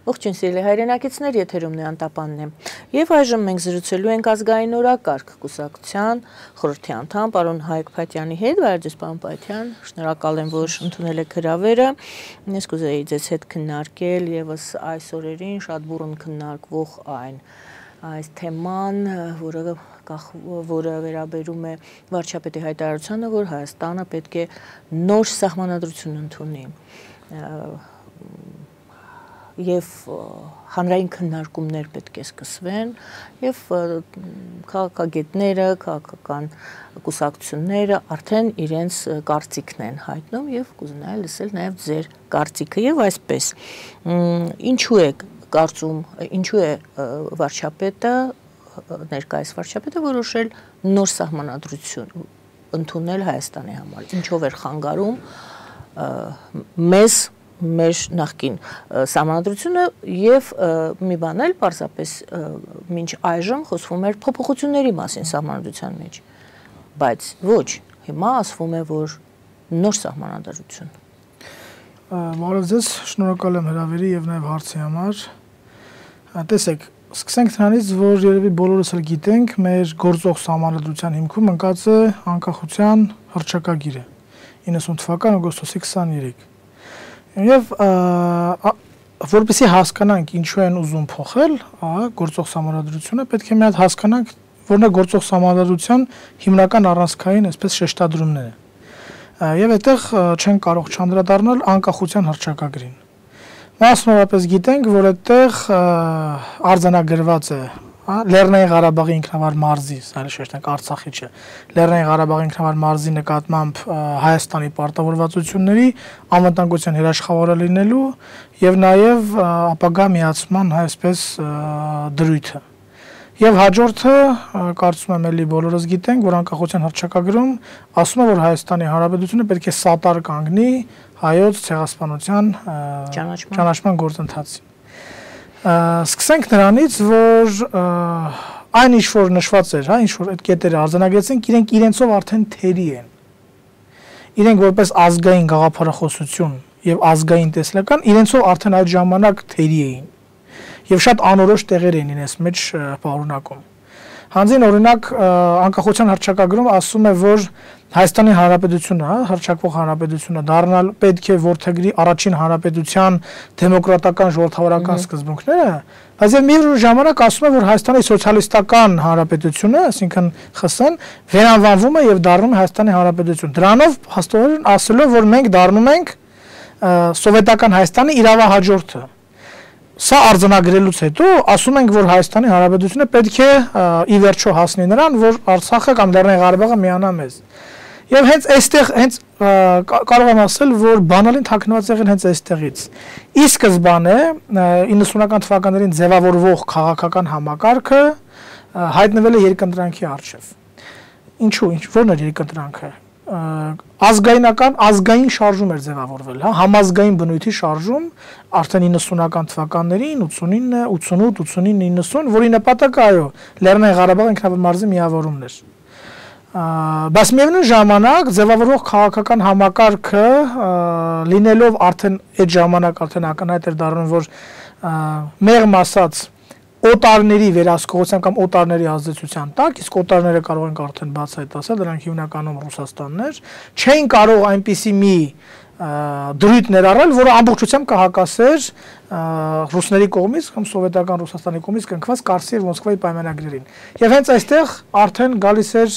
Ողջույն սիրելի հայրենակիցներ, եթերում է Անտապանն է։ Եվ այժմ մենք զրուցելու ենք ազգային օրակարգ կուսակցության խորհրդի անդամ պարոն Հայկ Փաթյանի հետ, Վայրդես պարոն Փաթյան, շնորհակալ եմ, որ ընդունել եք հրավերը։ Ես կուզեի ձեզ հետ քննարկել եւս այս օրերին շատ բուռն քննարկվող այս թեման, որը վերաբերում է վարչապետի հայտարարությանը, որ Հայաստանը պետք է նոր սահմանադրություն ընդունի։ Եվ հանրային քննարկումներ պետք է սկսվեն եւ քաղաքագետները, քաղաքական կուսակցությունները արդեն իրենց կարծիքն են հայտնում եւ կուզենայի լսել նաեւ ձեր կարծիքը եւ այսպես ինչու է կարծում, ինչու է վարչապետը ներկայիս վարչապետը որոշել նոր սահմանադրություն ընդունել Հայաստանի համար, ինչով էր խանգարում մեր նախկին սահմանադրությունը եւ մի բան էլ պարզապես մինչ այժմ խոսվում էր փոփոխությունների մասին սահմանադրության մեջ, բայց ոչ, հիմա ասվում է, որ նոր սահմանադրություն։ Բարև ձեզ, շնորհակալ եմ հրավերի եւ նաեւ հարցի համար։ Տեսեք, սկսենք նրանից, որ երևի բոլորս էլ գիտենք, մեր գործող սահմանադրության հիմքում ընկած է անկախության հռչակագիրը 90 թվական օգոստոսի 23։ Եվ որպեսզի հասկանանք ինչու են ուզում փոխել գործող սահմանադրությունը, պետք է մի հատ հասկանանք, որն է գործող սահմանադրության հիմնական առանցքային այսպես շեշտադրումները։ Եվ այդտեղ չեն կարող չանդրադառնալ անկախության հռչակագրին։ Մասնավորապես գիտենք, որ այդտեղ արձանագրված է Լեռնային Ղարաբաղի ինքնավար մարզի, այլ շեշտենք Արցախի չէ, Լեռնային Ղարաբաղի ինքնավար մարզի նկատմամբ Հայաստանի պարտավորվածությունների անվտանգության հրաշխավորը լինելու եւ նաեւ ապագա միացման այսպես դրույթը։ Եվ հաջորդը, կարծում եմ էլի բոլորս գիտենք, որ անկախության հռչակագրում ասում է, որ Հայաստանի Հանրապետությունը պետք է սատար կանգնի հայոց ցեղասպանության ճանաչման գործընթացին։ Սկսենք նրանից, որ այն ինչ որ նշված էր, ինչ որ այդ կետերը արձանագրեցինք, իրենք իրենցով արդեն թերի են։ Իրենք որպես ազգային գաղափարախոսություն եւ ազգային տեսլական իրենցով արդեն այդ ժամանակ թերի էին։ Եվ շատ անորոշ տեղեր էին իրենց մեջ պարունակում։ Հանձին օրինակ անկախության հռչակագրում ասում է, որ Հայաստանի Հանրապետությունը, հռչակվող հանրապետությունը դառնալ պետք է որդեգրի առաջին հանրապետության դեմոկրատական ժողովրդավարական սկզբունքները, բայց եւ միևնույն ժամանակ ասում է, որ Հայաստանի սոցիալիստական հանրապետությունը, այսինքն ԽՍՀ-ն, վերանվանվում է եւ դառնում է Հայաստանի Հանրապետություն։ Դրանով հաստատորեն ասելով, որ մենք դառնում ենք սովետական Հայաստանի իրավահաջորդը։ Սա արձանագրելուց հետո ասում ենք, որ Հայաստանի Հանրապետությունը պետք է ի վերջո հասնի նրան, որ Արցախը կամ Լեռնային Ղարաբաղը միանա մեզ։ Եվ հենց այստեղ հենց կարող եմ ասել, որ բանալին թաքնված եղել հենց այստեղից։ Ի սկզբանե 90-ական թվականներին ձևավորվող քաղաքական համակարգը հայտնվել է երկընտրանքի առջև։ Ինչու՞, ո՞րն էր երկընտրանքը։ Ազգային շարժում էր ձևավորվել, համազգային բնույթի շարժում արդեն 90-ական թվականներին 89, 88, 89, 90, որի նպատակը այո, Լեռնային Ղարաբաղի ինքնավար մարզի միավորումն էր։ Բայց միևնույն ժամանակ ձևավորող քաղաքական համակարգը լինելով արդեն այդ ժամանակ արդեն ակնհայտ էր դառնում, որ մեղմ ասած օտարների վերահսկողության կամ օտարների ազդեցության տակ, իսկ օտարները կարող ենք արդեն բացահայտ ասել, դրանք հիմնականում Ռուսաստաններ, չէին կարող այնպիսի մի դրույթ ներառել, որը ամբողջությամբ կհակասեր ռուսների կողմից կամ սովետական Ռուսաստանի կողմից կնքված Կարսի եւ Մոսկվայի պայմանագրերին։ Եվ հենց այստեղ արդեն գալիս էր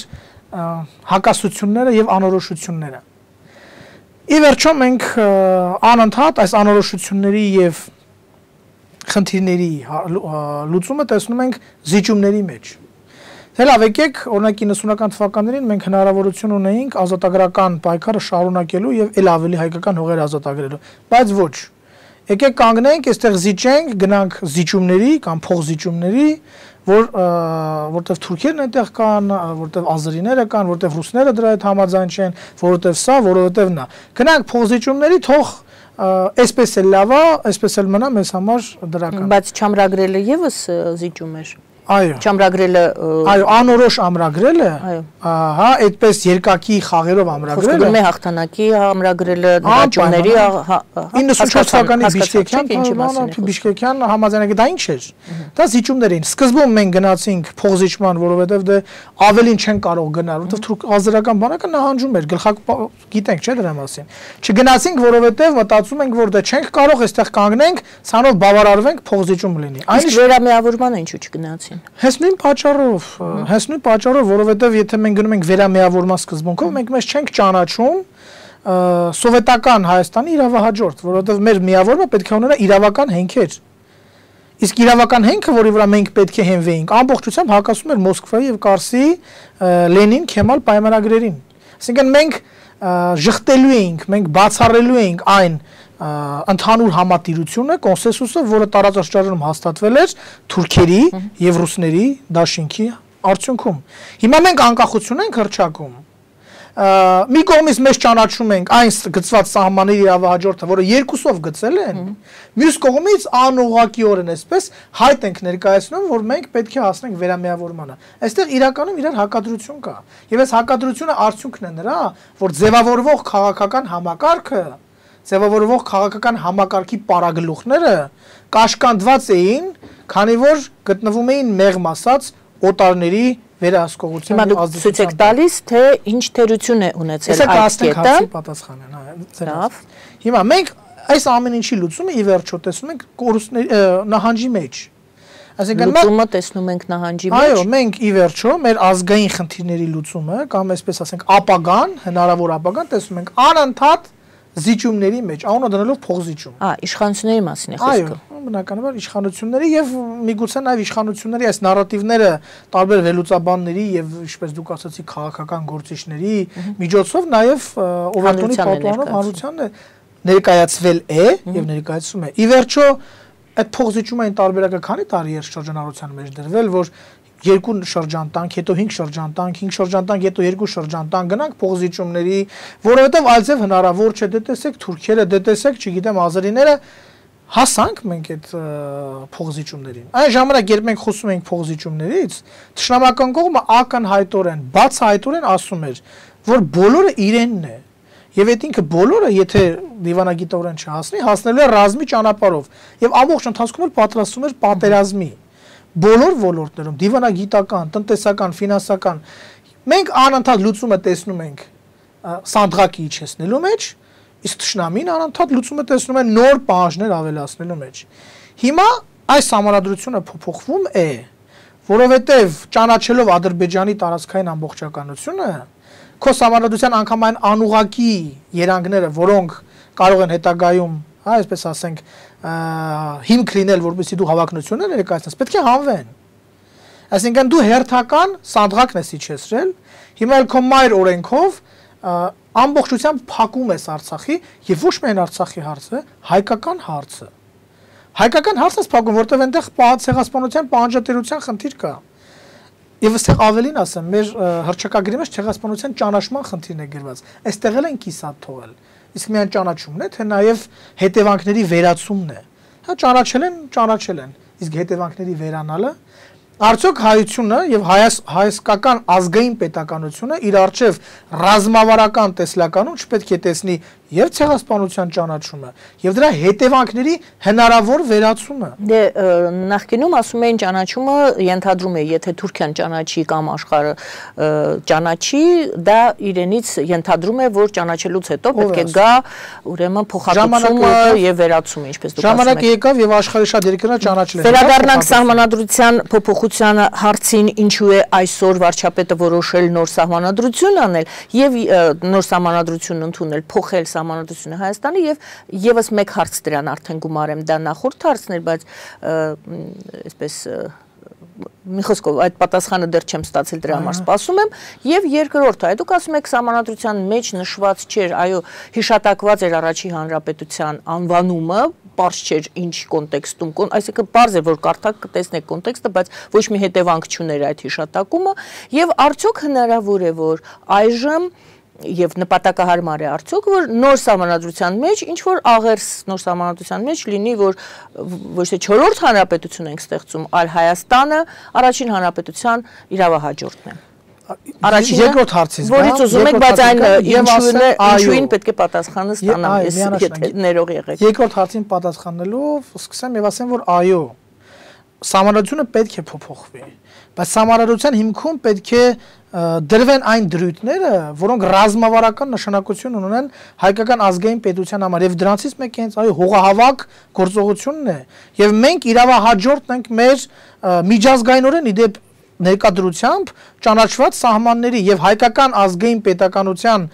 հակասությունները եւ անորոշությունները։ Ի վերջո մենք անընդհատ այս անորոշությունների եւ խնդիրների լուծումը տեսնում ենք զիջումների մեջ։ Դե լավ, եկեք, օրինակ 90-ական թվականներին մենք հնարավորություն ունեինք ազատագրական պայքարը շարունակելու եւ ել ավելի հայկական հողեր ազատագրելու, բայց ոչ։ Եկեք կանգնենք, այստեղ զիջենք, գնանք զիջումների կամ փոխզիջումների, որտեղ թուրքերն այնտեղ կան, որտեղ ազերիները կան, որտեղ ռուսները դրա հետ համաձայն չեն, որովհետև սա, որովհետև նա։ Գնանք փոխզիջումների, թող այսպես էլ լավ է, այսպես էլ մնա մեզ համար դրական։ Բայց չամրագրելը եւս զիջում էր։ Չամրագրելը այո, անորոշ ամրագրելը, հա, այդպես երկակի խաղերով ամրագրելը։ Խոսքը գնում է հաղթանակի ամրագրելը, նվաճումների 94 թվականի Բիշկեկյան համաձայնագիր դա ինչ էր։ Դա զիջումներ էին։ Սկզբում մենք գնացինք փոխզիջման, որովհետև դե ավելին չեն կարող գնալ, որովհետև թուրք ազերական բանակը նահանջում էր, գիտենք չէ դրա մասին։ Չգնացինք, որովհետև մտածում ենք, որ դե չենք կարող այստեղ կանգնենք, ցանով բավարարվենք, փոխզիջում լինի։ Այս վերամիավորմանը ինչու չգնացին։ Հենց նույն պատճառով, որովհետև եթե մենք գնում ենք վերամիավորման սկզբունքով, մենք մեզ չենք ճանաչում սովետական Հայաստանի իրավահաջորդ, որովհետև մեր միավորումը պետք է ունենա իրավական հենքեր։ Իսկ իրավական հենքը, որի վրա մենք պետք է հենվեինք, ամբողջությամբ հակասում էր Մոսկվայի եւ Կարսի Լենին-Քեմալ պայմանագրերին։ Այսինքն մենք ժխտելու էինք, մենք բացառելու էինք այն ընդհանուր համատիրությունը, կոնսենսուսը, որը տարածաշրջանում հաստատվել էր թուրքերի եւ ռուսների դաշինքի արդյունքում։ Հիմա մենք անկախություն ենք հռչակում։ Մի կողմից մեզ ճանաչում ենք այն գծված սահմանների իրավահաջորդը, որը երկուսով գծել են, մյուս կողմից անուղղակիորեն այսպես հայտ ենք ներկայացնում, որ մենք պետք է հասնենք վերամիավորմանը։ Այստեղ իրականում իրար հակադրություն կա։ Եվ այս հակադրությունը արդյունքն է նրա, որ ձևավորվող քաղաքական համակարգի պարագլուխները կաշկանդված էին, քանի որ գտնվում էին մեղմ ասած օտարների վերահսկողության ազդեցության։ Ցույց եք տալիս, թե ինչ թերություն է ունեցել այդ կետը։ Լավ։ Հիմա մենք այս ամեն ինչի լուծումը ի վերջո տեսնում ենք նահանջի մեջ։ Այսինքն լուծումը տեսնում ենք նահանջի մեջ։ Այո, մենք ի վերջո մեր ազգային խնդիրների լուծումը կամ այսպես ասենք ապագան, հնարավոր ապագան տեսնում ենք անընդհատ զիջումների մեջ, անունը դնելով փոխզիջում։ Իշխանությունների մասին է խոսքը։ Այո, բնականաբար իշխանությունների եւ միգուցե նաեւ իշխանությունների այս նարատիվները տարբեր վերլուծաբանների եւ ինչպես դուք ասացիք քաղաքական գործիչների միջոցով նաեւ Օվերտոնի պատուհանով հանրությանն ներկայացվել է եւ ներկայացում է։ Ի վերջո այդ փոխզիջումային տարբերակը քանի տարի էր շրջանառության մեջ դրվել, որ 2 շրջան տանք, հետո 5 շրջան տանք, 5 շրջան տանք, հետո 2 շրջան տանք, գնանք փոխզիջումների, որովհետև այլձև հնարավոր չէ, դե տեսեք թուրքերը, դե տեսեք, չգիտեմ, ազերիները հասանք մենք այդ փոխզիջումներին։ Այն ժամանակ, երբ մենք խոսում էինք փոխզիջումներից, թշնամական կողմը ակնհայտորեն, բացահայտորեն ասում էր, որ բոլորը իրենն է։ Եվ այդ ինքը բոլորը, եթե դիվանագիտորեն չհասնի, հասնելու է ռազմի ճանապարհով։ Եվ ամբողջ ընթացքում էլ պատրաստում էր պատերազմի։ Բոլոր ոլորտներում, դիվանագիտական, տնտեսական, ֆինանսական, մենք անընդհատ լուծումը տեսնում ենք սանդղակի իջեցնելու մեջ, իսկ թշնամին անընդհատ լուծումը տեսնում է նոր պահանջներ ավելացնելու մեջ։ Հիմա այս համանadrությունը փոփոխվում է, որովհետև ճանաչելով Ադրբեջանի տարածքային ամբողջականությունը, քո համանadrության անգամ այն անուղակի երանգները, որոնք կարող են հետագայում, այսպես ասենք, հիմք լինել, որպեսզի դու հավակնություններ ներկայացնես, պետք է հանվեն։ Այսինքն դու հերթական սանդղակն ես իջեցրել, հիմա էլ քո մայր օրենքով ամբողջությամբ փակում ես Արցախի եւ ոչ միայն Արցախի հարցը, հայկական հարցը։ Հայկական հարցը փակում, որտեղ այնտեղ ցեղասպանության պահանջատիրության խնդիր կա։ Եվ այստեղ ավելին ասեմ, մեր հռչակագրի մեջ ցեղասպանության ճանաչման խնդիրն է գրված։ Այստեղ էլ են կիսատ թողել։ Իսկ միայն ճանաչումն է, թե նաև հետևանքների վերացումն է։ Հա ճանաչել են, իսկ հետևանքների վերանալը արդյոք հայությունը եւ հայկական ազգային պետականությունը իր արժեվ ռազմավարական տեսլականում չպետք է տեսնի եւ ցեղասպանության ճանաչումը եւ դրա հետևանքների հնարավոր վերացումը։ Դե նախկինում ասում էին ճանաչումը ենթադրում է, եթե Թուրքիան ճանաչի կամ աշխարհը ճանաչի, դա իրենից ենթադրում է, որ ճանաչելուց հետո պետք է գա ուրեմն փոխհատուցումը եւ վերացումը, ինչպես դուք ասում եք։ Ժամանակը եկավ եւ աշխարհի շատ երկրներ ճանաչել են։ Վերադառնանք սահմանադրության փոփոխության հարցին, ինչու է այսօր վարչապետը որոշել նոր սահմանադրություն անել եւ նոր սահմանադրություն ընդունել, փոխել սահմանադրությունը Հայաստանի եւ եւս մեկ հարց դրան արդեն գումարեմ, դա նախորդ հարցն էր, բայց այսպես մի խոսքով այդ պատասխանը դեռ չեմ ստացել, դրա համար սպասում եմ։ Եվ երկրորդը, դուք ասում եք սահմանադրության մեջ նշված չէր, այո, հիշատակված էր Առաջին Հանրապետության անվանումը, պարզ չէր ինչ կոնտեքստում, այսինքն պարզ է, որ կարդաք կտեսնեք կոնտեքստը, բայց ոչ մի հետևանք չուներ այդ հիշատակումը, եւ արդյոք հնարավոր է, որ այժմ եւ նպատակահարմար է արդյոք որ նոր սահմանադրության մեջ ինչ որ աղերս նոր սահմանադրության մեջ լինի որ ոչ թե 4-րդ հանրապետություն ենք ստեղծում, այլ Հայաստանը առաջին հանրապետության իրավահաջորդն է։ Առաջին երկրորդ հարցից, որից ուզում եք, բայց այն ինչույն պետք է պատասխանը ստանամ, ես եթե ներող եղեք։ Երկրորդ հարցին պատասխանելով սկսեմ եւ ասեմ, որ այո, սահմանադրությունը պետք է փոփոխվի, բայց սահմանադրության հիմքում պետք է դրվեն այն դրույթները, որոնք ռազմավարական նշանակություն ունեն հայկական ազգային պետության համար եւ դրանցից մեկը հենց այո հողահավաք գործողությունն է եւ մենք իրավահաջորդն ենք մեր միջազգայինորեն իդեպ ներկայդրությամբ ճանաչված սահմանների եւ հայկական ազգային պետականության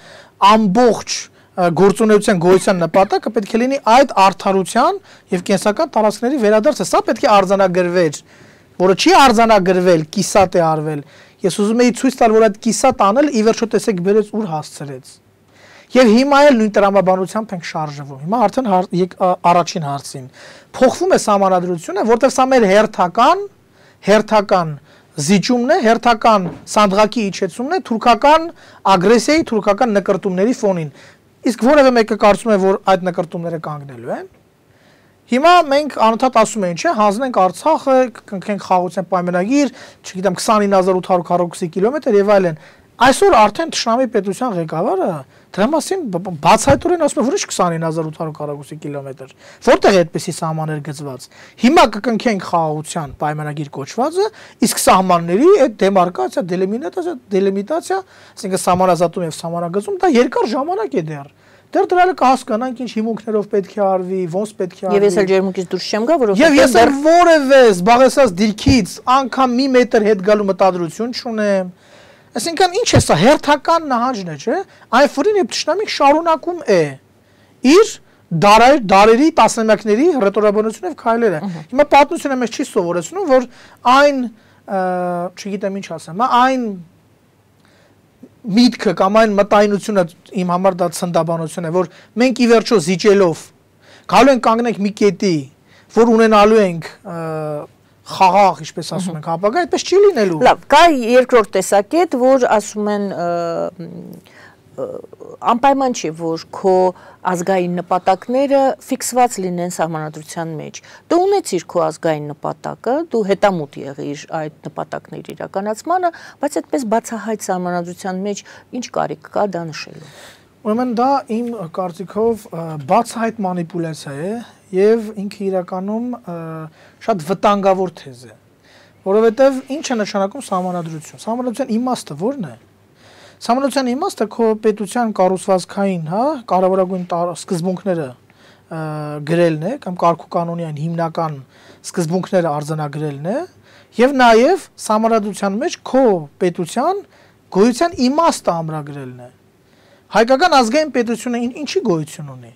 ամբողջ գործունեության գոյության նպատակը պետք է լինի այդ արդարության եւ կենսական տարածքների վերադարձը, սա պետք է արձանագրվեր, որը չի արձանագրվել, կիսատ է արվել։ Ես ուզում եի ցույց տալ, որ այդ կիսատ անել ի վերջո տեսեք բերեց ուր հասցրեց։ Եվ հիմա էլ նույն տրամաբանությամբ ենք շարժվում։ Հիմա արդեն առաջին հարցին փոխվում է սահմանադրությունը, որտեղ սա մեր հերթական զիջումն է, հերթական սանդղակի իջեցումն է թուրքական ագրեսիայի, թուրքական նկրտումների ֆոնին։ Իսկ որևէ մեկը կարծում է, որ այդ նկրտումները կանգնելու են։ Հիմա մենք անընդհատ ասում ենք, չէ, հանձնենք Արցախը, կնքենք խաղաղության պայմանագիր, չգիտեմ 29800 քառակուսի կիլոմետր եւ այլն։ Այսօր արդեն Թշնամի պետության ղեկավարը դրա մասին բացահայտորեն ասում է, որ ինչ 29800 քառակուսի կիլոմետր։ Որտեղ է այդպեսի սահմաններ գծված։ Հիմա կկնքենք խաղաղության պայմանագիր կոչվածը, իսկ սահմանների այդ դեմարկացիա, դելիմիտացիա, այսինքն սահմանազատում եւ սահմանագծում դա երկար ժամանակ է դեռ։ Դեռ դրալ կհասկանանք ինչ հիմունքներով պետք է արվի, ոնց պետք է արվի։ Եվ ես էլ ջերմուկից դուրս չեմ գա, որովհետեւ Եվ ես էլ որևէ զբաղեցած դիրքից անգամ մի մետր հետ գալու մտադրություն չունեմ։ Այսինքն ինչ է սա հերթական նահանջն է, չէ՞։ Այն ֆրին եւ Թշնամին շարունակում է իր դարերի տասնամյակների հռետորաբանությունը եւ քայլերը։ Հիմա պատմությունը մեզ չի սովորեցնում, որ այն, չգիտեմ ինչ ասեմ, այն միտքը կամ այն մտայնությունը իմ համար դա ցնդաբանություն է, որ մենք ի վերջո զիջելով գալու ենք կանգնենք մի կետի, որ ունենալու ենք խաղաղ, ինչպես ասում ենք, ապագա, այդպես չի լինելու։ Լավ, կա երկրորդ տեսակետ, որ ասում են անպայման չի, որ քո ազգային նպատակները ֆիքսված լինեն սահմանադրության մեջ։ Դու ունեցիր քո ազգային նպատակը, դու հետամուտ եղիր այդ նպատակների իրականացմանը, բայց այդպես բացահայտ սահմանադրության մեջ ինչ կարիք կա դա նշելու։ Ուրեմն դա իմ կարծիքով բացահայտ մանիպուլյացիա է եւ ինքը իրականում շատ վտանգավոր թեզ է, որովհետեւ ինչ է նշանակում սահմանադրություն։ Սահմանադրության իմաստը ո՞րն է։ Սահմանադրության իմաստը քո պետության կառուցվածքային, հա, կարևորագույն սկզբունքները գրելն է կամ կարգուկանոնի այն հիմնական սկզբունքները արձանագրելն է եւ նաեւ սահմանադրության մեջ քո պետության գոյության իմաստը ամրագրելն է։ Հայկական ազգային պետությունը ինչի գոյություն ունի։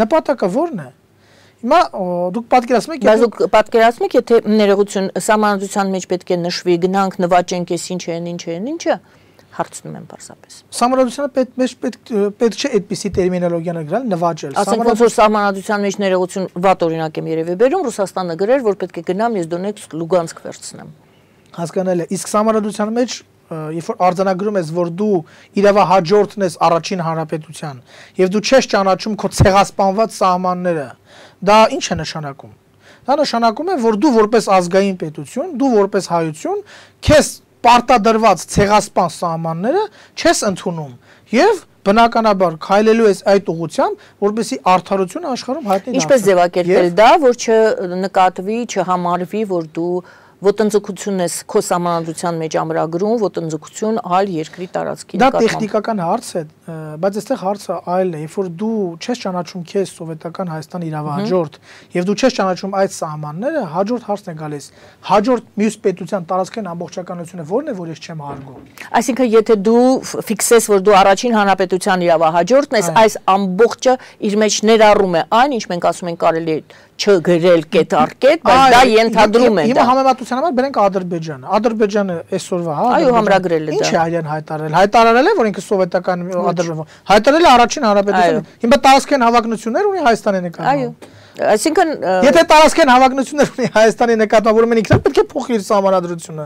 Նպատակը ո՞րն է։ Հիմա դուք պատկերացնում եք, բայց դուք պատկերացնում եք, եթե ներողություն սահմանադրության մեջ պետք է նշվի, գնանք նվաճենք, էս ինչ են, ինչը հարցնում եմ պարզապես։ Սահմանադրությունը պետք չէ այդպիսի տերմինոլոգիաներ գրել, նվաճել։ Ասենք ոնց որ սահմանադրության մեջ ներողություն վատ օրինակ եմ երևի բերում, Ռուսաստանը գրեր, որ պետք է գնամ ես Դոնեցկ, Լուգանսկ վերցնեմ։ Հասկանալի է։ Իսկ սահմանադրության մեջ երբ որ արձանագրում ես, որ դու իրավահաջորդն ես առաջին հանրապետության, եւ դու չես ճանաչում քո ցեղասպանված սահմանները, դա ինչ է նշանակում։ Դա նշանակում է, որ դու որպես ազգային պետություն, դու որպես հայություն, քեզ պարտադրված ցեղասպան սահմանները չես ընդունում եւ բնականաբար քայլելու ես այդ ուղղությամբ, որպեսզի արդարությունը աշխարհում հայտնի դառնա։ Ինչպես ձևակերպել դա, որ չնկատվի, չհամարվի, որ դու ոտնձգություն ես քո սահմանադրության մեջ ամրագրում, ոտնձգություն այլ երկրի տարածքի նկատմամբ։ Դա տեխնիկական հարց է, բայց այստեղ հարցը այլն է, երբ որ դու չես ճանաչում քեզ սովետական Հայաստանի իրավահաջորդ, եւ դու չես ճանաչում այդ սահմանները, հաջորդ հարցն է գալիս։ Հաջորդ մյուս պետության տարածքային ամբողջականությունը ո՞րն է, որ ես չեմ հարգում։ Այսինքն, եթե դու ֆիքսես, որ դու առաջին հանրապետության իրավահաջորդն ես, այս ամբողջը իր մեջ ներառում է այն, ինչ մենք ասում ենք կարելի է չգրել կետ առ կետ, բայց դա ենթադրում է դա։ Հիմա համեմատության համար բերենք Ադրբեջանը։ Ադրբեջանը այսօրվա, հա, այո, համրագրել է դա։ Ինչ է այլն հայտարարել։ Հայտարարել է, որ ինքը սովետական Ադրբեջան։ Հայտարարել է առաջին հանրապետությունը։ Հիմա տարածքային հավակնություններ ունի Հայաստանի նկատմամբ։ Այո։ Այսինքն եթե տարածքային հավակնություններ ունի Հայաստանի նկատմամբ, ուրեմն ինքն պետք է փոխի իր սահմանադրությունը։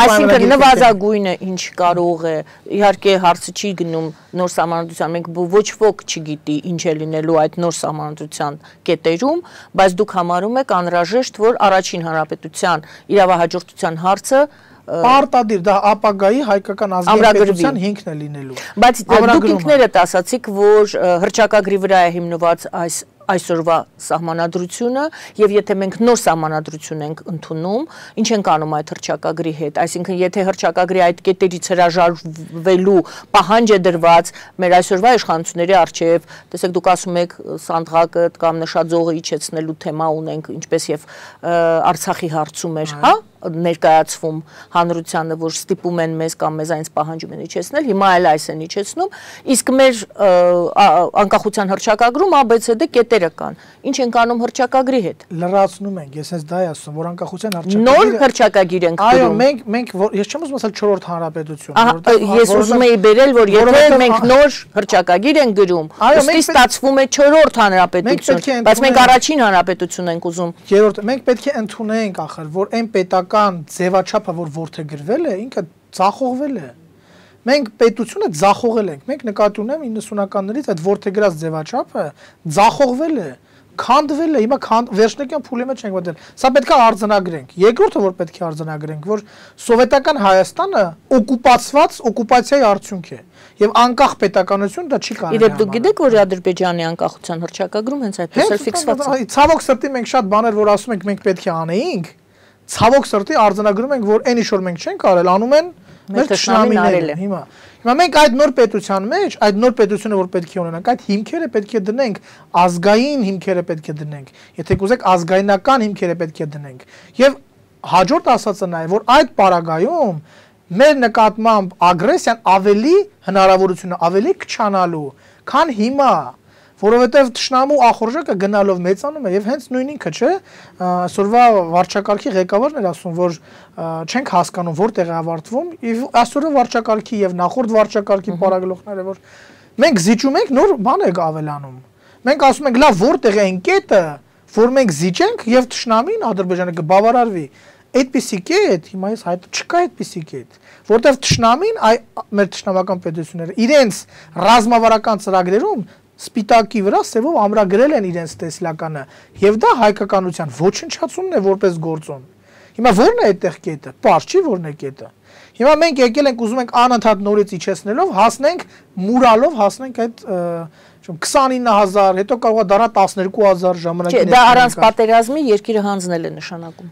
Այսինքն նվազագույնը ինչ կարող է, իհարկե հարցը չի գնում նոր սահմանադրության, մենք ոչ ոք չգիտի ինչ է լինելու այդ նոր սահմանադրության կետերում, բայց դուք համարում եք անհրաժեշտ, որ առաջին հանրապետության իրավահաջորդության հարցը Պարտադիր դա ապագայի հայկական ազգային պետության հիմքն է լինելու։ Բայց դուք ինքներդ ասացիք, որ հռչակագրի վրա է հիմնված այսօրվա սահմանադրությունը եւ եթե մենք նոր սահմանադրություն ենք ընդունում, ինչ ենք անում այդ հռչակագրի հետ, այսինքն եթե հռչակագրի այդ կետերից հրաժարվելու պահանջ է դրված մեր այսօրվա իշխանությունների արչեւ, տեսեք դուք ասում եք Սանդղակը կամ նշաձողը իջեցնելու թեմա ունենք, ինչպես եւ Արցախի հարցում էր, հա ներկայացվում հանրությանը, որ ստիպում են մեզ կամ մեզ այնց պահանջում են իջեցնել, հիմա այլ այս են իջեցնում, իսկ մեր անկախության հռչակագրում ABCD կետերը կան։ Ինչ ենք անում հռչակագրի հետ։ Լրացնում ենք, ես հենց դա եմ ասում, որ անկախության հռչակագիրը նոր հռչակագիր ենք գրում։ Այո, մենք ես չեմ ուզում ասել 4-րդ հանրապետություն, Ես ուզում եի բերել, որ եթե մենք նոր հռչակագիր ենք գրում, ըստի ստացվում է 4-րդ հանրապետություն, բայց մենք առաջին հանրապետություն ենք ուզում։ Երրորդ, մենք պետք է ընդունենք ախր, որ այն պետական ձևաչափը, որ որդեգրվել է, ինքը ձախողվել է։ Մենք պետությունը ձախողել ենք։ Մենք նկատի ունեմ 90-ականներից այդ որդեգրած ձևաչափը ձախողվել է, քանդվել է։ Հիմա վերջնական փուլի մեջ ենք մտել։ Սա պետք է արձանագրենք։ Երկրորդը, որ պետք է արձանագրենք, որ սովետական Հայաստանը օկուպացիայի արդյունք է։ Եվ անկախ պետականություն դա չի կարող։ Իրեւ դուք գիտեք, որ Ադրբեջանի անկախության հռչակագրում հենց այդպես էլ ֆիքսված է։ Ցավոք սրտի մենք շատ բաներ, որ ասում ենք մենք պետք է անեինք, ցավոք սրտի արձանագրում ենք, որ այն ինչ որ մենք չենք արել, անում են մեր թշնամիները։ Հիմա մենք այդ նոր պետության մեջ, այդ նոր պետությունը որ պետք է ունենանք, այդ հիմքերը պետք է դնենք, ազգային հիմքերը պետք է դնենք, եթե կուզեք ազգայնական հիմքերը պետք է դնենք։ Եվ հաջորդ ասածը նա է, որ այդ պարագայում մեր նկատմամբ ագրեսիան ավելի հնարավորությունը ավելի քչանալու, քան հիմա, որովհետև թշնամու ախորժակը գնալով մեծանում է եւ հենց նույն ինքը, չէ, այսօրվա վարչակարգի ղեկավարն էր ասում, որ չենք հասկանում որտեղ է ավարտվում, եւ այսօրվա վարչակարգի եւ նախորդ վարչակարգի պարագլոխները, որ մենք զիջում ենք, նոր բան եք ավելանում։ Մենք ասում ենք, լավ, որտեղ է այն կետը, որ մենք զիջենք եւ թշնամին Ադրբեջանը կբավարարվի։ Այդպիսի կետ, հիմա ես հայտ չկա այդպիսի կետ, որտեղ թշնամին մեր թշնամական պետությունները իրենց ռազմավարական ծրագրերում սպիտակի վրա սևով ամրագրել են իրենց տեսլականը եւ դա հայկականության ոչնչացումն է որպես գործոն։ Հիմա ո՞րն է այդտեղ կետը։ Պարզ չի ո՞րն է կետը։ Հիմա մենք եկել ենք ուզում ենք անընդհատ նորից իջեցնելով հասնենք մուրալով հասնենք այդ 29000, հետո կարող է դառնա 12000 ժամանակին։ Դա առանց պատերազմի երկիրը հանձնել է նշանակում։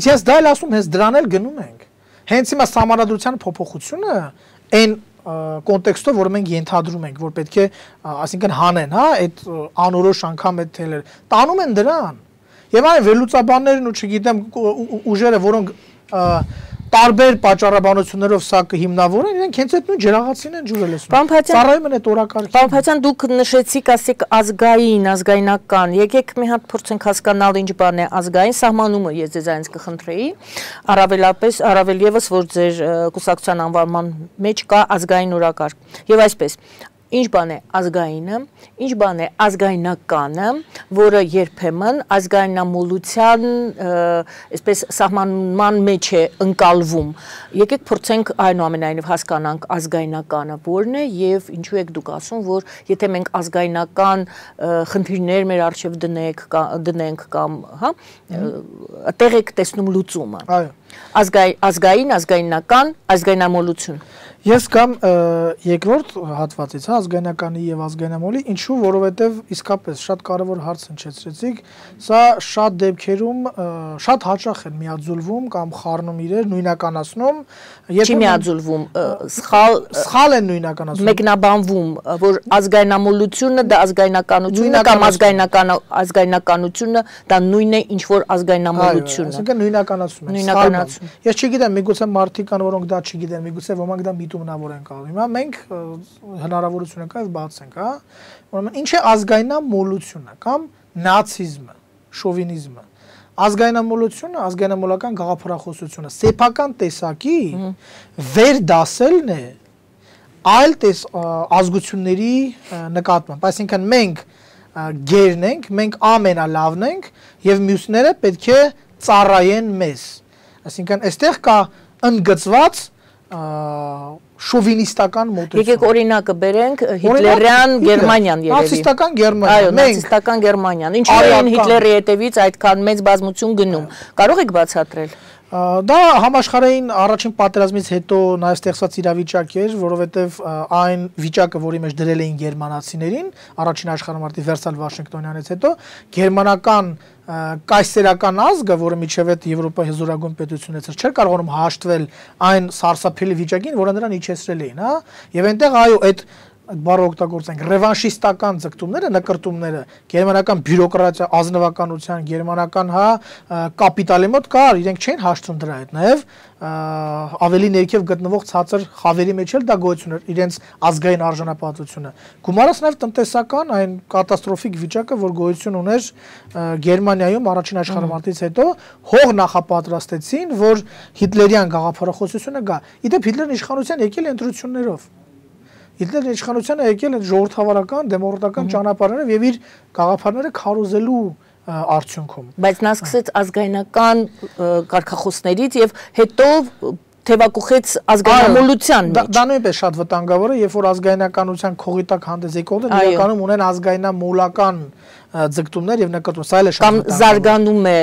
Ես դա էլ ասում, հենց դրան էլ գնում ենք։ Հենց հիմա սահմանադրության փոփոխությունը այն կոնտեքստով, որ մենք ենթադրում ենք, որ պետք է, այսինքն հանեն, հա, այդ անորոշ անգամ այդ թելեր, տանում են դրան։ Եվ այն վերլուծաբաններն ու չգիտեմ ուժերը, որոնք տարբեր պատճառաբանություններով սա կհիմնավորեն, իրենք հենց այդ նույն ջրաղացին են ջուրել ասում։ Ծառայում են այդ օրակարգին։ Պարոն Փաթյան, դուք նշեցիք, ասեք ազգային, ազգայնական։ Եկեք մի հատ փորձենք հասկանալ ինչ բան է ազգային սահմանումը, ես ձեզ այնց կխնդրեի, առավել եւս, որ ձեր կուսակցության անվանման մեջ կա ազգային օրակարգ։ Եվ այսպես Ինչ բան է ազգայինը, ինչ բան է ազգայնականը, որը երբեմն ազգայնամոլության, այսպես սահմանման մեջ է ընկալվում։ Եկեք փորձենք այնուամենայնիվ հասկանանք ազգայնականը որն է եւ ինչու եք դուք ասում, որ եթե մենք ազգայնական խնդիրներ մեր առջև դնենք կամ, հա, տեղ եք տեսնում լուծումը։ Այո։ Ազգայնական, ազգայնամոլություն։ Ես կամ երկրորդ հատվածից, հա, ազգայնականի եւ ազգայնամոլի, ինչու, որովհետեւ իսկապես շատ կարեւոր հարց հնչեցրեցիք, սա շատ դեպքերում շատ հաճախ են միաձուլվում կամ խառնում իրեր, նույնականացնում, Չի միաձուլվում, սխալ են նույնականացնում։ Մեկնաբանվում, որ ազգայնամոլությունը դա ազգայնականությունը կամ ազգայնականությունը դա նույնն է ինչ որ ազգայնամոլությունը։ Այսինքն նույնականացում են։ Ես չգիտեմ, միգուցե մարդիկ կան, որոնք դա չգիտեն, միգուցե ոմանք դա միտումնավոր են կալում։ Հիմա մենք հնարավորություն կա եւ բացենք, հա։ Ուրեմն ինչ է ազգայնամոլությունը կամ նացիզմը, շովինիզմը։ Ազգայնամոլությունը, ազգայնամոլական գաղափարախոսությունը սեփական տեսակի վերդասելն է այլ ազգությունների նկատմամբ։ Այսինքն մենք գերն ենք, մենք ամենալավն ենք եւ մյուսները պետք է ծառայեն մեզ։ Այսինքն այստեղ կա ընդգծված շովինիստական մոտեցում։ Եկեք օրինակը բերենք Հիտլերյան Գերմանիան երևի։ Նացիստական Գերմանիան։ Այո, նացիստական Գերմանիան։ Ինչու էին Հիտլերի հետևից այդքան մեծ բազմություն գնում։ Կարող եք բացատրել։ Դա համաշխարհային առաջին պատերազմից հետո նաև ստեղծված իրավիճակ էր, որովհետև այն վիճակը, որի մեջ դրել էին գերմանացիներին, առաջին աշխարհամարտի Վերսալ Վաշինգտոնյանից հետո գերմանական կայսերական ազգը, որը միջև այդ Եվրոպայի հզորագույն պետությունից չէր կարողանում հաշտվել այն սարսափելի վիճակին, որը նրան իջեցրել էին, հա, եւ այնտեղ այո, այդ բառը օգտագործենք ռևանշիստական ձգտումները, նկրտումները, գերմանական բյուրոկրատիա, ազնվականության, գերմանական կապիտալի մոտ կար, իրենք չէին հաշտվում դրա հետ, նաև ավելի ներքև գտնվող ցածր խավերի մեջ էլ դա գոյություն էր, իրենց ազգային արժանապատվությունը։ Գումարած նաև տնտեսական այն կատաստրոֆիկ վիճակը, որ գոյություն ուներ Գերմանիայում առաջին աշխարհամարտից հետո, հող նախապատրաստեցին, որ հիտլերյան գաղափարախոսությունը գա։ Իդեպ Հիտլերն իշխանության եկել է ընտրություններով։ Հիտլերն իշխանությանը եկել է ժողովրդավարական, դեմոկրատական ճանապարհներով եւ իր գաղափարները քարոզելու արդյունքում։ Բայց նա սկսեց ազգայնական կարգախոսներից եւ հետո թևակուխեց ազգայնամոլության մեջ։ Դա նույնպես շատ վտանգավոր է, երբ որ ազգայնականության քողի տակ հանդես եկողները իրականում ունեն ազգայնամոլական ձգտումներ եւ նկատում, սա էլ է շատ կամ զարգանում է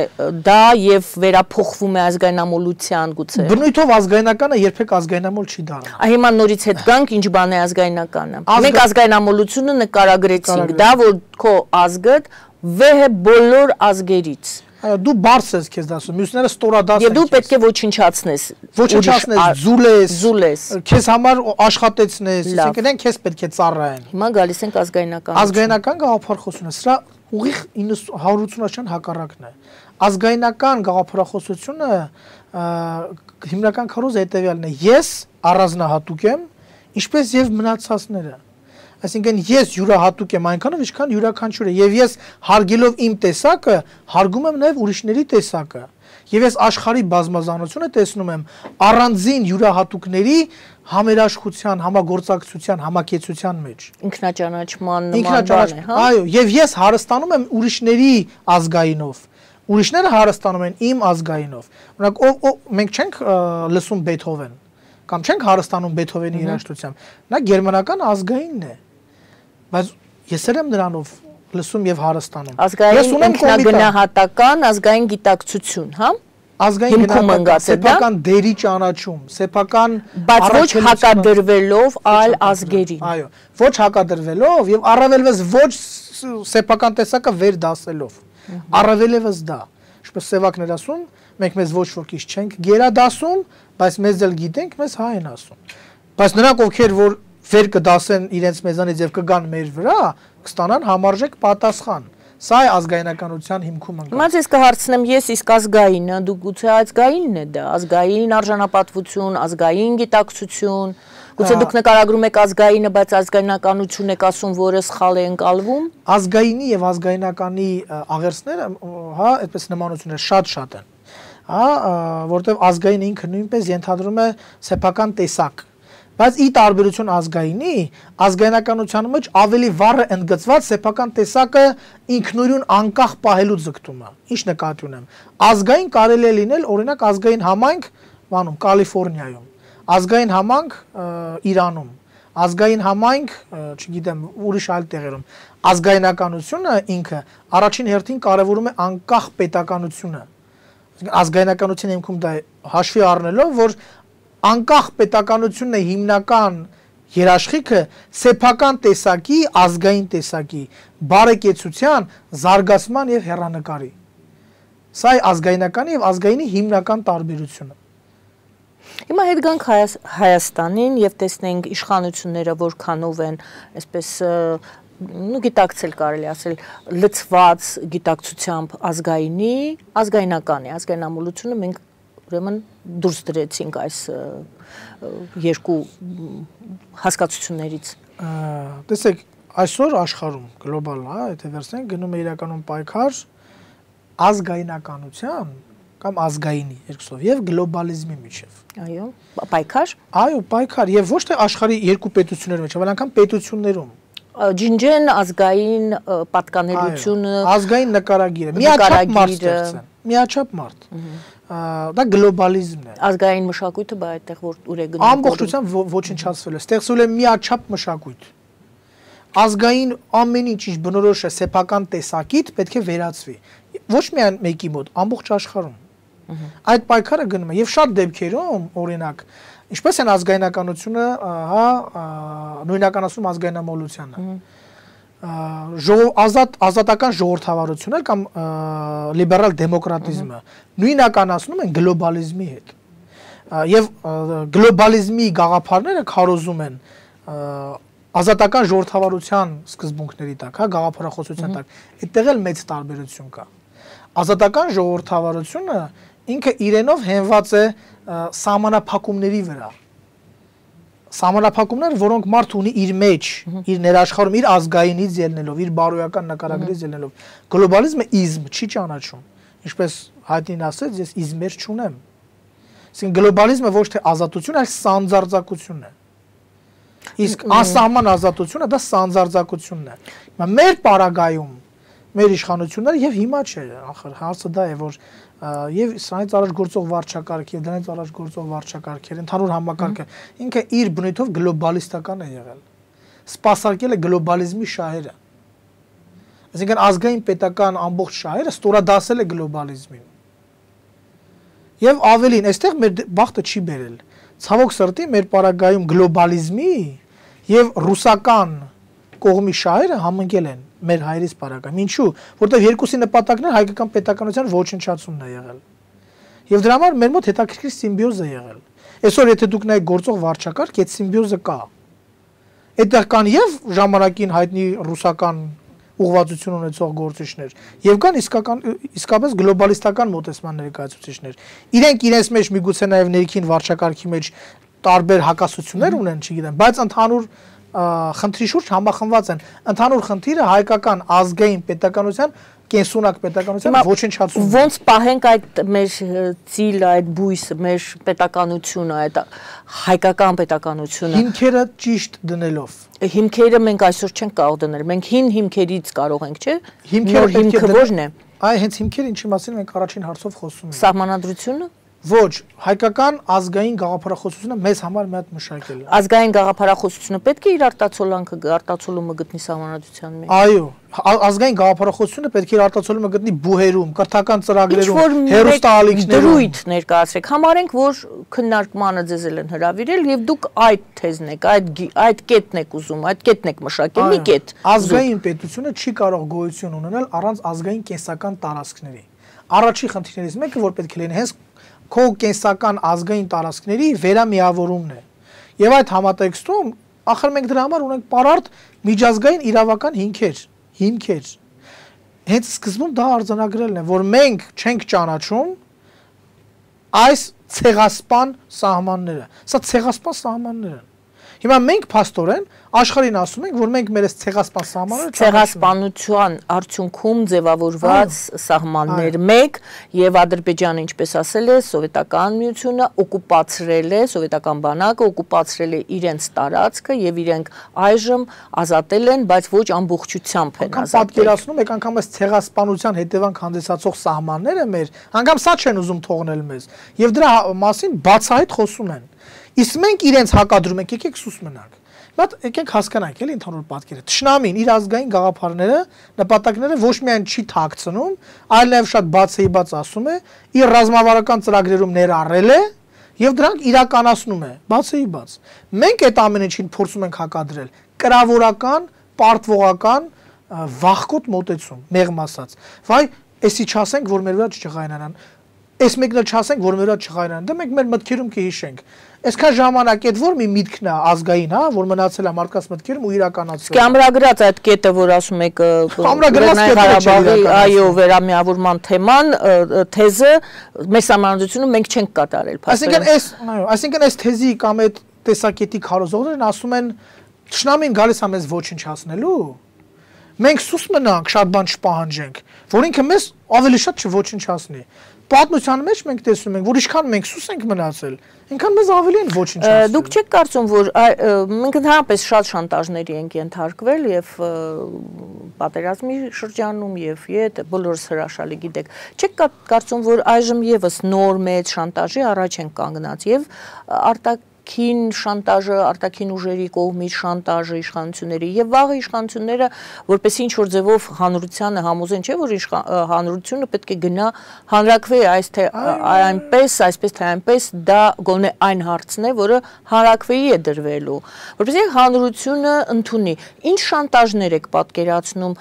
դա եւ վերափոխվում է ազգայնամոլության գուցե։ Բնույթով ազգայնականը երբեք ազգայնամոլ չի դառնա։ Հիմա նորից հետ գանք, ինչ բան է ազգայնականը։ Մենք ազգայնամոլությունը նկարագրեցինք, դա որ քո ազգը վեհ է բոլոր ազգերից։ Դու բարձ ես քեզ դասում, մյուսները ստորադաս են։ Եվ դու պետք է ոչնչացնես։ Ոչնչացնես, զուլես, քեզ համար աշխատեցնես, այսինքն քեզ պետք է ծառայեն։ Հիմա գալիս ենք ազգայնական։ Ազգայնական գաղափարախոսությունը, սրա ուղիղ 180-ական հակառակն է։ Ազգայնական գաղափարախոսությունը հիմնական քարոզը հետևյալն է. ես առանձնահատուկ եմ, ինչպես եւ մնացածները։ Այսինքն ես յուրահատուկ եմ այնքանով, ինչքան յուրաքանչյուրը, եւ ես հարգելով իմ տեսակը, հարգում եմ նաեւ ուրիշների տեսակը։ Եվ ես աշխարհի բազմազանությունը տեսնում եմ առանձին յուրահատուկների համերաշխության, համագործակցության, համակեցության մեջ։ Ինքնաճանաչման նման բան է, հա։ Այո, եւ ես հարստանում եմ ուրիշների ազգայինով։ Ուրիշները հարստանում են իմ ազգայինով։ Օրինակ, մենք չենք լսում Բեթհովեն, կամ չենք հարստանում Բեթհովենի երաժշտությամբ։ Նա գերմանական ազգայինն է։ Բայց ես եմ նրանով լսում եւ հարստանում։ Ազգային ինքնագնահատական, ազգային գիտակցություն, հա։ Ազգային գնահատական, սեփական դերի ճանաչում, սեփական բայց ոչ հակադրվելով այլ ազգերին։ Այո, ոչ հակադրվելով եւ առավելևս ոչ սեփական տեսակը վեր դասելով։ Առավելևս դա, ինչպես սևակներ ասում, մենք մեզ ոչ ոք ինչ չենք գերադասում, բայց մեզ էլ գիտենք, մեզ հա են ասում։ Բայց նրանք ովքեր որ վեր կդասեն իրենց մեզանից եւ կգան մեր վրա, կստանան համարժեք պատասխան։ Սա է ազգայնականության հիմքում ընկած։ Հիմա ես կհարցնեմ, ես իսկ ազգայինը, դու գուցե ազգայինն է դա, ազգային արժանապատվություն, ազգային գիտակցություն, գուցե դուք նկարագրում եք ազգայինը, բայց ազգայնականություն եք ասում, որը սխալ է ընկալվում։ Ազգայինի եւ ազգայնականի աղերսները, հա, այդպես նմանությունները շատ են։ Հա, որտեղ ազգայինը ինքը նույնպես ենթադրում է սեփական տեսակ։ Բայց ի տարբերություն ազգայինի, ազգայնականության մեջ ավելի վառ է ընդգծված սեփական տեսակը ինքնուրույն անկախ պահելու ձգտումը։ Ինչ նկատի ունեմ։ Ազգային կարելի է լինել, օրինակ ազգային համայնք, բանում Կալիֆոռնիայում, ազգային համայնք Իրանում, ազգային համայնք, չգիտեմ, ուրիշ այլ տեղերում։ Ազգայնականությունը ինքը առաջին հերթին կարևորում է անկախ պետականությունը։ Ազգայնականության հիմքում դա հաշվի առնելով, որ անկախ պետականությունն է հիմնական երաշխիքը սեփական տեսակի, ազգային տեսակի, բարեկեցության, զարգացման եւ հեռանկարի։ Սա է ազգայնականի եւ ազգայինի հիմնական տարբերությունը։ Հիմա հետ գանք Հայաստանին եւ տեսնենք իշխանությունները որքանով են, այսպես գիտակցել կարելի ասել, լցված գիտակցությամբ ազգայինի, ազգայնականի, ազգայնամոլությունը մենք ուրեմն դուրս դրեցինք այս երկու հասկացություններից։ Տեսեք, այսօր աշխարհում գլոբալ, հա, եթե վերցնենք, գնում է իրականում պայքար ազգայնականության կամ ազգայինի երկուսով եւ գլոբալիզմի միջեւ։ Այո, պայքար։ Այո, պայքար եւ ոչ թե աշխարհի երկու պետությունների մեջ, այլ անգամ պետություններում։ ջինջեն ազգային պատկանելությունը, ազգային նկարագիրը, միաչափ մարդ ստեղծեն, միաչափ մարդ։ Դա գլոբալիզմն է։ Ազգային մշակույթը բա այդտեղ որ ուր է գնում։ Ամբողջությամբ ոչնչացվել է, ստեղծվել է միաչափ մշակույթ։ Ազգային ամեն ինչ ինչ բնորոշ է սեփական տեսակիտ պետք է վերացվի։ Ոչ միայն մեկի մոտ, ամբողջ աշխարհում։ Այդ պայքարը գնում է եւ շատ դեպքերում, օրինակ, ինչպես են ազգայնականությունը, նույնականացում ազգայնամոլությանը։ Ազատական ժողովրդավարությունը կամ լիբերալ դեմոկրատիզմը նույնականացնում են գլոբալիզմի հետ։ Եվ գլոբալիզմի գաղափարները քարոզում են ազատական ժողովրդավարության սկզբունքների տակ, գաղափարախոսության տակ։ Այդտեղ էլ մեծ տարբերություն կա։ Ազատական ժողովրդավարությունը ինքը իրենով հենված է սահմանափակումների վրա։ Սահմանափակումներ, որոնք մարդ ունի իր մեջ, իր ներաշխարհում, իր ազգայինից ելնելով, իր բարոյական նկարագրից ելնելով։ Գլոբալիզմը իզմ չի ճանաչում։ Ինչպես հայտնին ասեց, ես իզմեր չունեմ։ Այսինքն գլոբալիզմը ոչ թե ազատություն, այլ սանձարձակություն է։ Իսկ անսահման ազատությունը դա սանձարձակությունն է։ Հիմա մեր պարագայում մեր իշխանությունները եւ հիմա չէ, ախր հարցը դա է, որ եւ սրանից առաջ գործող վարչակարգ եւ դրանից առաջ գործող վարչակարգեր, ընդհանուր համակարգը ինքը իր բնույթով գլոբալիստական է եղել։ Սպասարկել է գլոբալիզմի շահերը։ Այսինքն ազգային պետական ամբողջ շահերը ստորադասել է գլոբալիզմին։ Եվ ավելին, այստեղ մեր բախտը չի բերել։ Ցավոք սրտի մեր պարագայում գլոբալիզմի եւ ռուսական կողմի շահերը համընկել են մեր հայրից պարագայում։ Ինչու՞, որտեղ երկուսի նպատակն է հայկական պետականության ոչնչացումն է եղել։ Եվ դրա համար մեր մոտ հետաքրքիր սիմբիոզ է եղել։ Այսօր եթե դուք նայեք գործող վարչակարգ, այդ սիմբիոզը կա։ Այդտեղ կան եւ ժամանակին հայտնի ռուսական ուղղվածություն ունեցող գործիչներ, եւ կան իսկապես գլոբալիստական մոտեցման ներկայացուցիչներ։ Իրենք իրենց մեջ միգուցե նաեւ ներքին վարչակարգի մեջ տարբեր հակասություններ ունեն, չգիտեմ, բայց ընդհանուր խնդրի շուրջ համախմբված են։ Ընդհանուր խնդիրը հայկական ազգային պետականության կենսունակ պետականության ոչնչացումն է։ Ոնց պահենք այդ մեր ծիլը, այդ բույսը, մեր պետականությունը, այդ հայկական պետականությունը։ Հիմքերը ճիշտ դնելով։ Հիմքերը մենք այսօր չենք կարող դնել։ Մենք հին հիմքերից կարող ենք, չէ՞։ Հիմքը ո՞րն է։ Այ հենց հիմքերը ինչի մասին մենք առաջին հարցով խոսում ենք։ Սահմանադրությունը։ Ոչ, հայկական ազգային գաղափարախոսությունը մեզ համար մի հատ մշակել է։ Ազգային գաղափարախոսությունը պետք է իր արտացոլումը գտնի սահմանադրության մեջ։ Այո, ազգային գաղափարախոսությունը պետք է իր արտացոլումը գտնի բուհերում, կրթական ծրագրերում, հեռուստաալիքներում։ Դրույթ ներկայացրեք։ Համարենք, որ քննարկմանը ձեզ են հրավիրել եւ դուք այդ թեզն եք, այդ կետն եք ուզում, այդ կետն եք մշակել, մի կետ։ Ազգային պետությունը չի կարող գոյություն ունենալ առանց ազգային կենսական տարածքների։ Առաջի խնդիրներից մեկը, որ պետք է լինի հենց քո կենսական ազգային տարածքների վերամիավորումն է։ Եվ այդ համատեքստում ախր մենք դրա համար ունենք պարարտ միջազգային իրավական հիմքեր։ Հենց սկզբում դա արձանագրելն է, որ մենք չենք ճանաչում այս ցեղասպան սահմանները։ Սա ցեղասպան սահմաններ են։ Հիմա մենք փաստորեն աշխարհին ասում ենք, որ մենք մեր ցեղասպան սահմանները ցեղասպանության արդյունքում ձևավորված սահմաններ մեկ եւ Ադրբեջանը, ինչպես ասել է, սովետական միությունը օկուպացրել է, սովետական բանակը օկուպացրել է իրենց տարածքը եւ իրենք այժմ ազատել են, բայց ոչ ամբողջությամբ են ազատել։ Պատկերացնում եք անգամ այս ցեղասպանության հետևանք հանդիսացող սահմանները մեր, անգամ սա չեն ուզում թողնել մեզ եւ դրա մասին բացահայտ խոսում են։ Իսկ մենք իրենց հակադրում ենք, եկեք սուս մնանք։ Բայց եկեք հասկանանք, էլի ընդհանուր պատկերը։ Թշնամին իր ազգային գաղափարները, նպատակները ոչ միայն չի թաքցնում, այլ նաև շատ բացեիբաց ասում է, իր ռազմավարական ծրագրերում ներառել է եւ դրանք իրականացնում է, բացեիբաց։ Մենք այդ ամեն ինչին փորձում ենք հակադրել կրավորական, պարտվողական, վախկոտ մոտեցում, մեղմ ասած։ Վայ, էսի չասենք, որ մեր վրա չճղայնանան։ Այս մեկն էլ չասենք, որ մեր վրա չխայրանան։ Դա մենք մեր մտքերում կհիշենք։ Այսքան ժամանակ այդ որ մի միտքն է ազգային, հա, որ մնացել է մարդկանց մտքերում ու իրականացվել։ Ամրագրած այդ կետը, որ ասում եք Ղարաբաղի, այո, վերամիավորման թեման, թեզը մեր սահմանադրությունում մենք չենք կատարել։ Այսինքն այս թեզի կամ այդ տեսակետի քարոզողներն ասում են թշնամին գալիս է մեզ ոչնչացնելու։ Մենք սուս մնանք, շատ բան չպահանջենք, որ ինքը մեզ ավելի շատ չոչնչացնի։ պատմության մեջ մենք տեսնում ենք, որ ինչքան մենք սուս ենք մնացել, այնքան մեզ ավելի են ոչինչ ասել։ Դուք չեք կարծում, որ մենք ընդհանրապես շատ շանտաժների ենք ենթարկվել եւ պատերազմի շրջանում եւ իդ բոլորս հրաշալի գիտեք։ Չեք կարծում, որ այժմ եւս նոր մեծ շանտաժի առաջ են կանգնած եւ արտաքին շանտաժը, արտաքին ուժերի կողմից շանտաժը իշխանությունների եւ վաղ իշխանությունները, որպես ինչ որ ձևով հանրությանը համոզեն, չէ՞ որ հանրությունը պետք է գնա հանրակրվի այս թե այնպես, այսպես թե այնպես, դա գոնե այն հարցն է, որը հանրակրվեի է դրվելու, որպեսզի հանրությունը ընդունի։ Ինչ շանտաժներ եք պատկերացնում,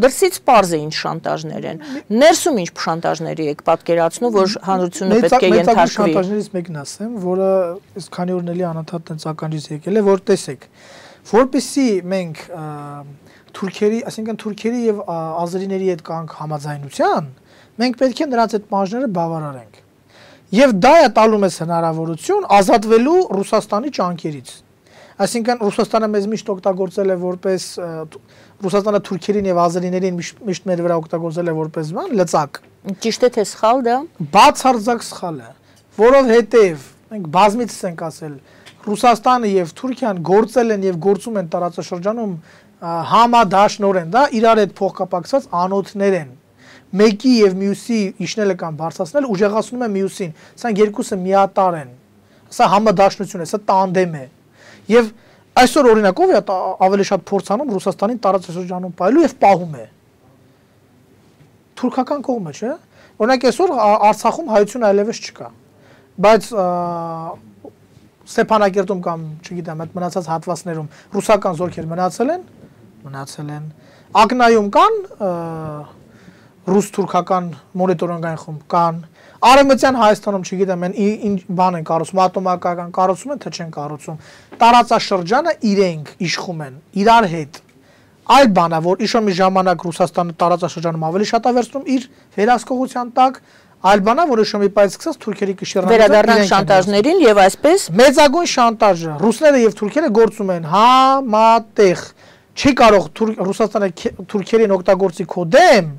դրսից պարզ է ինչ շանտաժներ են, ներսում ինչ շանտաժների եք պատկերացնում, որ հանրությունը պետք է ենթարկվի։ Շանտաժներից մեկն ասեմ, որը քանի օր անընդհատ տենց ականջից եկել է, որ տեսեք, որպեսզի մենք թուրքերի, այսինքն թուրքերի եւ ազերիների հետ կանք համաձայնության, մենք պետք է նրանց այդ պահանջները բավարարենք։ Եվ դա է տալու մեզ հնարավորություն ազատվելու Ռուսաստանի ճանկերից։ Այսինքն Ռուսաստանը մեզ միշտ օգտագործել է որպես Ռուսաստանը թուրքերին եւ ազերիներին միշտ մեր վրա օգտագործել է որպես բան լծակ։ Ճիշտ է թե սխալ դա։ Բացարձակ սխալ է, որովհետեւ մենք բազմիցս ենք ասել, Ռուսաստանը եւ Թուրքիան գործել են եւ գործում են տարածաշրջանում համադաշնորեն, դա իրար հետ փոխկապակցված անոթներ են։ Մեկի եւ մյուսի իջնելը կամ բարձրացնելը ուժեղացնում է մյուսին։ Սրանք երկուսը միատար են։ Սա համադաշնություն է, սա տանդեմ է։ Եվ այսօր օրինակով է ավելի շատ փորձանում Ռուսաստանին տարածաշրջանում պահելու եւ պահում է։ Թուրքական կողմը, չէ՞։ Օրինակ այսօր Արցախում հայություն այլևս չկա։ Բայց Ստեփանակերտում կամ, չգիտեմ, այդ մնացած հատվածներում ռուսական զորքեր մնացել են։ Ակնայում կան ռուս-թուրքական մոնիտորինգային խումբ կան։ Արևմտյան Հայաստանում, չգիտեմ, ինչ բան են կառուցում, ատոմակայական կառուցում են, թե չեն կառուցում։ Տարածաշրջանը իրենք իշխում են իրար հետ։ Այլ բան է, որ իշո մի ժամանակ Ռուսաստանը տարածաշրջանում ավելի շատ է վերցնում իր վերահսկողության տակ, այլ բանա, որը շոմի պայից սկսած թուրքերի կշիռնալու վերադառնան շանտաժներին եւ այսպես մեծագույն շանտաժը ռուսները եւ թուրքերը գործում են համատեղ չի կարող Ռուսաստանը թուրքերին օգտագործի քո դեմ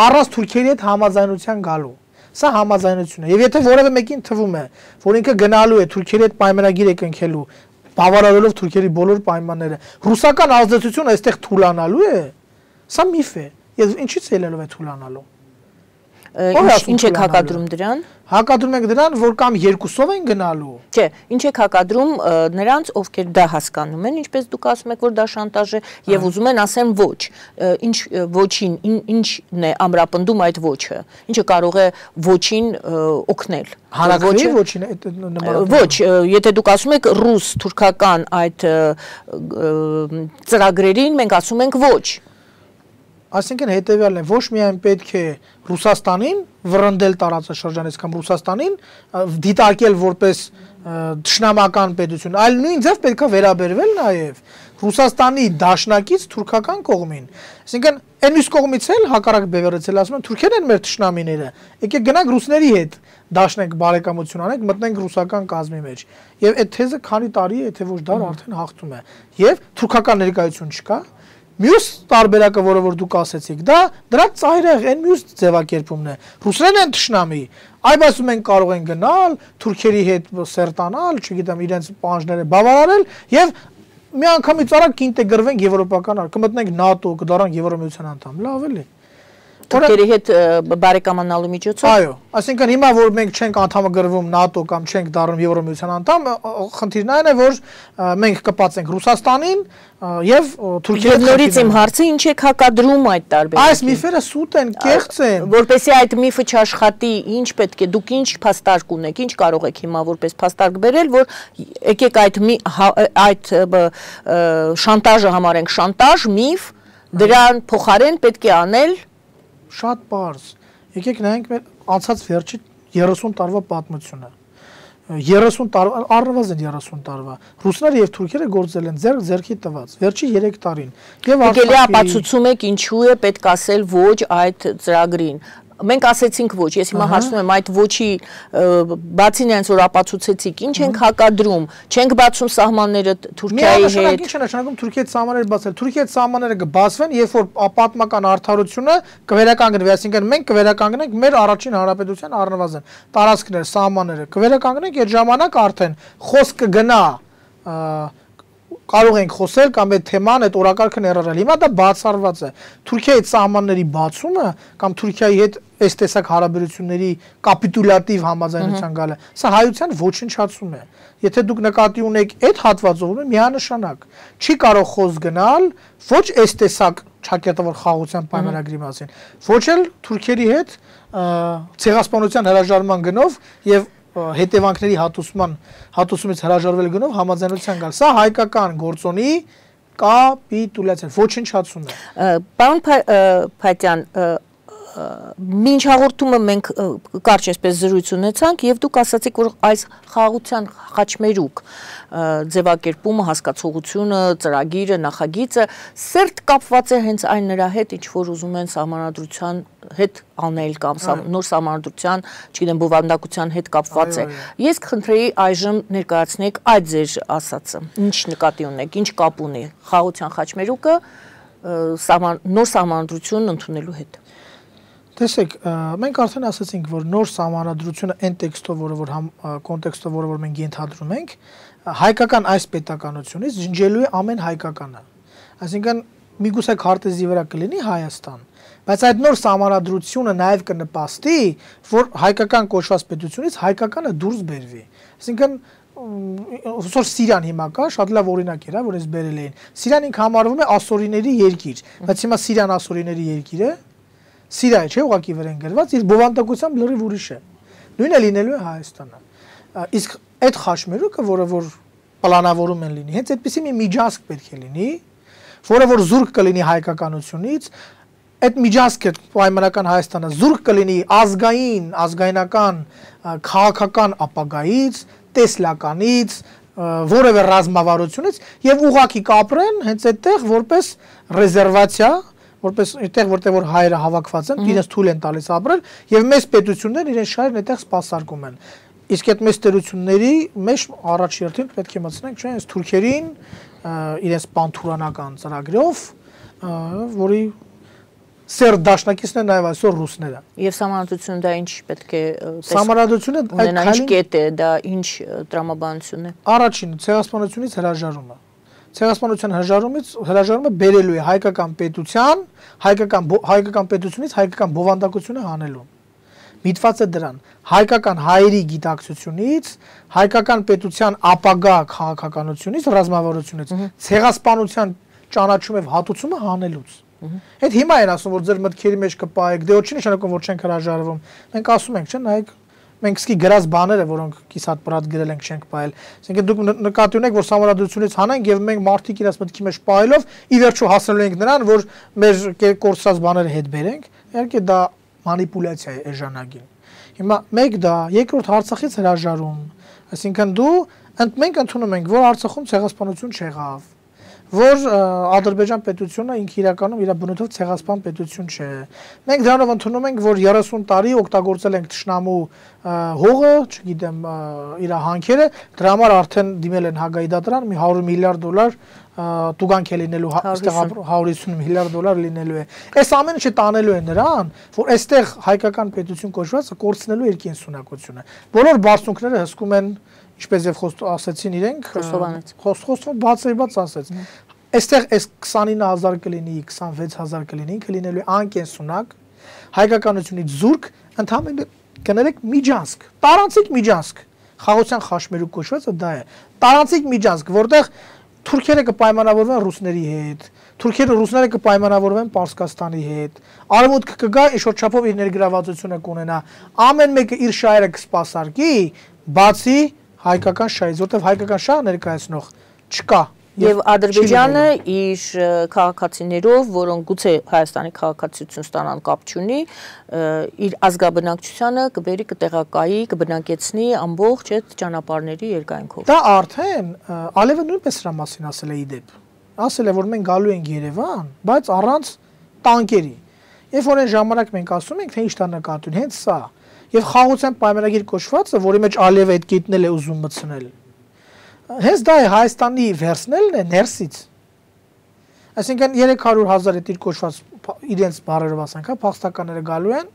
առանց թուրքերի հետ համաձայնության գալու սա համաձայնություն է եւ եթե որևէ մեկին թվում է որ ինքը գնալու է թուրքերի հետ պայմանագիր է կնքելու բավարարելով թուրքերի բոլոր պայմանները ռուսական ազդեցությունը այստեղ թուլանալու է սա միֆ է եւ ինչի՞ց ելնելով է թուլանալու Ինչ եք հակադրում դրան։ Հակադրում ենք դրան, որ կամ երկուսով են գնալու։ Չէ, ինչ եք հակադրում նրանց, ովքեր դա հասկանում են, ինչպես դուք ասում եք, որ դա շանտաժ է եւ ուզում են ասեն ոչ։ Ինչ ոչին, ինչն է ամրապնդում այդ ոչը։ Ինչը կարող է ոչին օգնել։ Հանրակրվեի ոչին Ոչ, եթե դուք ասում եք ռուս, թուրքական այդ ծրագրերին մենք ասում ենք ոչ։ Այսինքն հետևյալն է, ոչ միայն պետք է Ռուսաստանին վռնդել տարածաշրջանից կամ Ռուսաստանին դիտարկել որպես թշնամական պետություն, այլ նույն ձև պետք է վերաբերվել նաև Ռուսաստանի դաշնակից թուրքական կողմին։ Այսինքն այն մյուս կողմից էլ հակառակ բևեռեցել ասում են թուրքերն են մեր թշնամիները։ Եկեք գնանք ռուսների հետ դաշնենք բարեկամություն անենք, մտնենք ռուսական կազմի մեջ։ Եվ այդ թեզը քանի տարի է, եթե ոչ դար արդեն հաղթում է։ Եվ թուրքական ներկայություն չկա։ Մյուս տարբերակը, որը որ դուք ասեցիք, դա դրա ծայրեղ այն մյուս ձևակերպումն է։ Ռուսներն են թշնամի, այ ասում են կարող են գնալ, թուրքերի հետ սերտանալ, չգիտեմ, իրենց պահանջները բավարարել եւ մի անգամից արագ կինտեգրվենք եվրոպական, կմտնենք ՆԱՏՕ, կդառնանք Եվրամիության անդամ, լավ էլի։ Թուրքերի հետ բարեկամանալու միջոցով։ Այո, այսինքն հիմա որ մենք չենք անդամագրվում ՆԱՏՕ կամ չենք դառնում Եվրամիության անդամ, խնդիրն այն է, որ մենք կպածենք Ռուսաստանին եւ Թուրքիայի հետ։ Նորից իմ հարցը ինչ եք հակադրում այդ տարբերակին։ Այս միֆերը սուտ են, կեղծ են։ Որպեսզի այդ միֆը չաշխատի, ինչ պետք է, դուք ինչ փաստարկ ունեք, ինչ կարող եք հիմա որպես փաստարկ բերել, որ եկեք այդ շանտաժը համարենք շանտաժ, միֆ, դրան փոխարեն պետք է անել շատ բարձ։ Եկեք նայենք մեր անցած վերջի 30 տարվա պատմությունը։ 30 տարվա, առնվազն 30 տարվա։ Ռուսները եւ թուրքերը գործել են ձեռքի տված վերջի 3 տարին։ Եվ Եկելի ապացուցում եք ինչու է պետք ասել ոչ այդ ծրագրին։ Մենք ասեցինք ոչ, ես հիմա հարցնում եմ այդ ոչի բացի նրանց որ ապացուցեցիք, ինչ ենք հակադրում, չենք բացում սահմանները Թուրքիայի հետ։ Ինչ է նշանակում Թուրքիայի սահմանները բացել։ Թուրքիայի սահմանները կբացվեն, երբ որ պատմական արդարությունը կվերականգնվի, այսինքն մենք կվերականգնենք մեր առաջին հանրապետության առնվազն տարածքները, սահմանները կվերականգնենք, այդ ժամանակ արդեն խոսք կգնա կարող ենք խոսել կամ այդ թեման, այդ օրակարգը ներառել։ Հիմա դա բացառված է։ Թուրքիայի սահմանների բացումը կամ Թուրքիայի հետ այս տեսակ հարաբերությունների կապիտուլյատիվ համաձայնության գալը, սա հայության ոչնչացում է։ Եթե դուք նկատի ունեք այդ հատվածով, միանշանակ չի կարող խոսք գնալ ոչ այս տեսակ ճակատավոր խաղաղության պայմանագրի մասին, ոչ էլ Թուրքիայի հետ ցեղասպանության հրաժարման գնով եւ հետևանքների հատուցումից հրաժարվել գնով համաձայնության գալ։ Սա հայկական գործոնի կապիտուլյացիա, ոչնչացում է։ Պարոն Փաթյան, մինչ հաղորդումը մենք կարճ այսպես զրույց ունեցանք եւ դուք ասացիք, որ այս խաղաղության խաչմերուկ ձևակերպումը, հասկացողությունը, ծրագիրը, նախագիծը սերտ կապված է հենց այն նրա հետ, ինչ որ ուզում են սահմանադրության հետ անել կամ նոր սահմանադրության, չգիտեմ, բովանդակության հետ կապված է։ Ես կխնդրեի այժմ ներկայացնեք այդ ձեր ասածը։ Ինչ նկատի ունեք, ինչ կապ ունի խաղաղության խաչմերուկը նոր սահմանադրություն ընդունելու հետ։ Տեսեք, մենք արդեն ասացինք, որ նոր սահմանադրությունը այն տեքստով, որը կոնտեքստով, որը մենք ենթադրում ենք, հայկական այս պետականությունից ջնջելու է ամեն հայկականը։ Այսինքն միգուցե քարտեզի վրա կլինի Հայաստան, բայց այդ նոր սահմանադրությունը նաև կնպաստի, որ հայկական կոչված պետությունից հայկականը դուրս բերվի։ Այսինքն ոսոր Սիրիան հիմա կա, շատ լավ օրինակ էր, որ ես բերել էին։ Սիրիան ինքը համարվում է ասորիների երկիր, բայց հիմա Սիրիան ասորիների երկիր է։ Սիրիայի չէ ուղղակի վրան գրված, իր բովանդակությամբ լրիվ ուրիշ է։ Նույնը լինելու է Հայաստանը։ Իսկ այդ խաչմերուկը, որը որ պլանավորում են լինի, հենց այդպիսի մի միջանցք պետք է լինի, որը որ զուրկ կլինի հայկականությունից, այդ միջանցքը պայմանական Հայաստանը զուրկ կլինի ազգայնական, քաղաքական ապագայից, տեսլականից, որևէ ռազմավարությունից եւ ուղղակի կապրեն հենց այդտեղ որպես ռեզերվացիա, որպես այդտեղ որտեղ որ հայերը հավաքված են, իրենց թույլ են տալիս ապրել եւ մեծ պետություններն իրենց շահերն այդտեղ սպասարկում են։ Իսկ այդ մեծ տերությունների մեջ առաջերտին պետք է մտցնենք, չէ՞, այս թուրքերին իրենց պանթուրանական ծրագրով, որի սեր դաշնակիցն է նաև այսօր ռուսները։ Եվ սահմանադրությունը դա ինչ պետք է Սահմանադրությունը այդ ինչ կետ է, դա ինչ տրամաբանություն է։ Առաջինը ցեղասպանությունից հրաժարումը։ Ցեղասպանության հրաժարումը բերելու է հայկական պետության, հայկական պետությունից հայկական բովանդակությունը հանելուն։ Միտված է դրան հայկական հայերի գիտակցությունից, հայկական պետության ապագա քաղաքականությունից, ռազմավարությունից, ցեղասպանության ճանաչում եւ հատուցումը հանելուց։ Այդ հիմա են ասում, որ ձեր մտքերի մեջ կպայեք, դե ոչ նշանակում որ չենք հրաժարվում։ Մենք ասում ենք, չէ՞, նայեք մենք սկի գրած բաները, որոնք կիսատ պրատ գրել ենք, չենք պայել։ Այսինքն դուք նկատի ունեք, որ սահմանադրությունից հանենք եւ մենք մարդիկ իրաց մտքի մեջ պայելով ի վերջո հասնելու ենք նրան, որ մեր կորցրած բաները հետ բերենք։ Իհարկե դա մանիպուլյացիա է էժանագին։ Հիմա մեկ դա, երկրորդ Արցախից հրաժարում։ Այսինքն մենք ընդունում ենք, որ Արցախում ցեղասպանություն չեղավ, որ Ադրբեջան պետությունը ինքը իրականում իր բնույթով ցեղասպան պետություն չէ։ Մենք դրանով ընդունում ենք, որ 30 տարի օգտագործել ենք թշնամու հողը, չգիտեմ, իր հանքերը, դրա համար արդեն դիմել են Հագայի դատարան, մի 100 միլիարդ դոլար տուգանք է լինելու, այստեղ 150 միլիարդ դոլար լինելու է։ Այս ամենը չտանելու է նրան, որ այստեղ հայկական պետություն կոչվածը կորցնելու իր կենսունակությունը։ Բոլոր բարձունքները հսկում են, ինչպես եւ ասացին իրենք, խոստովանեց բացեբաց ասեց։ Այստեղ այս 29000 կլինի, 26000 կլինի, ինքը լինելու է անկենսունակ, հայկականությունից զուրկ, ընդհանրապես կներեք միջանցք, տարանցիկ միջանցք։ Խաղաղության խաչմերուկ կոչվածը դա է։ Տարանցիկ միջանցք, որտեղ թուրքերը կպայմանավորվեն ռուսների հետ, ռուսները կպայմանավորվեն Պարսկաստանի հետ, արևմուտքը կգա ինչ-որ չափով իր ներգրավվածությունը կունենա, ամեն մեկը իր շահերը կսպասարկի, բացի հայկական շահից, որտեղ հայկական շահը ներկայացնող չկա։ Եվ Ադրբեջանը իր քաղաքացիներով, որոնք գուցե Հայաստանի քաղաքացիություն ստանան կապ չունի, իր ազգաբնակչությանը կբերի, կտեղակայի, կբնակեցնի ամբողջ այդ ճանապարհների երկայնքով։ Դա արդեն Ալիևը նույնպես սրա մասին ասել է իդեպ։ Ասել է, որ մենք գալու ենք Երևան, բայց առանց տանկերի։ Երբ որ այն ժամանակ մենք ասում ենք, թե ինչ տա նկատի, հենց սա։ Եվ խաղաղության պայմանագիր կոչվածը, որի մեջ Ալիևը այդ գետնել է ուզում մտցնել։ Հենց դա է Հայաստանի վերցնելն է ներսից։ Այսինքն 300,000 այդ իր կոչված իրենց բառերով ասենք, հա, փախստականները գալու են։